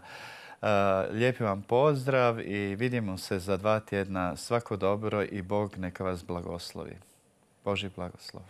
Lijepi vam pozdrav i vidimo se za 2 tjedna. Svako dobro i Bog neka vas blagoslovi. Božji blagoslov.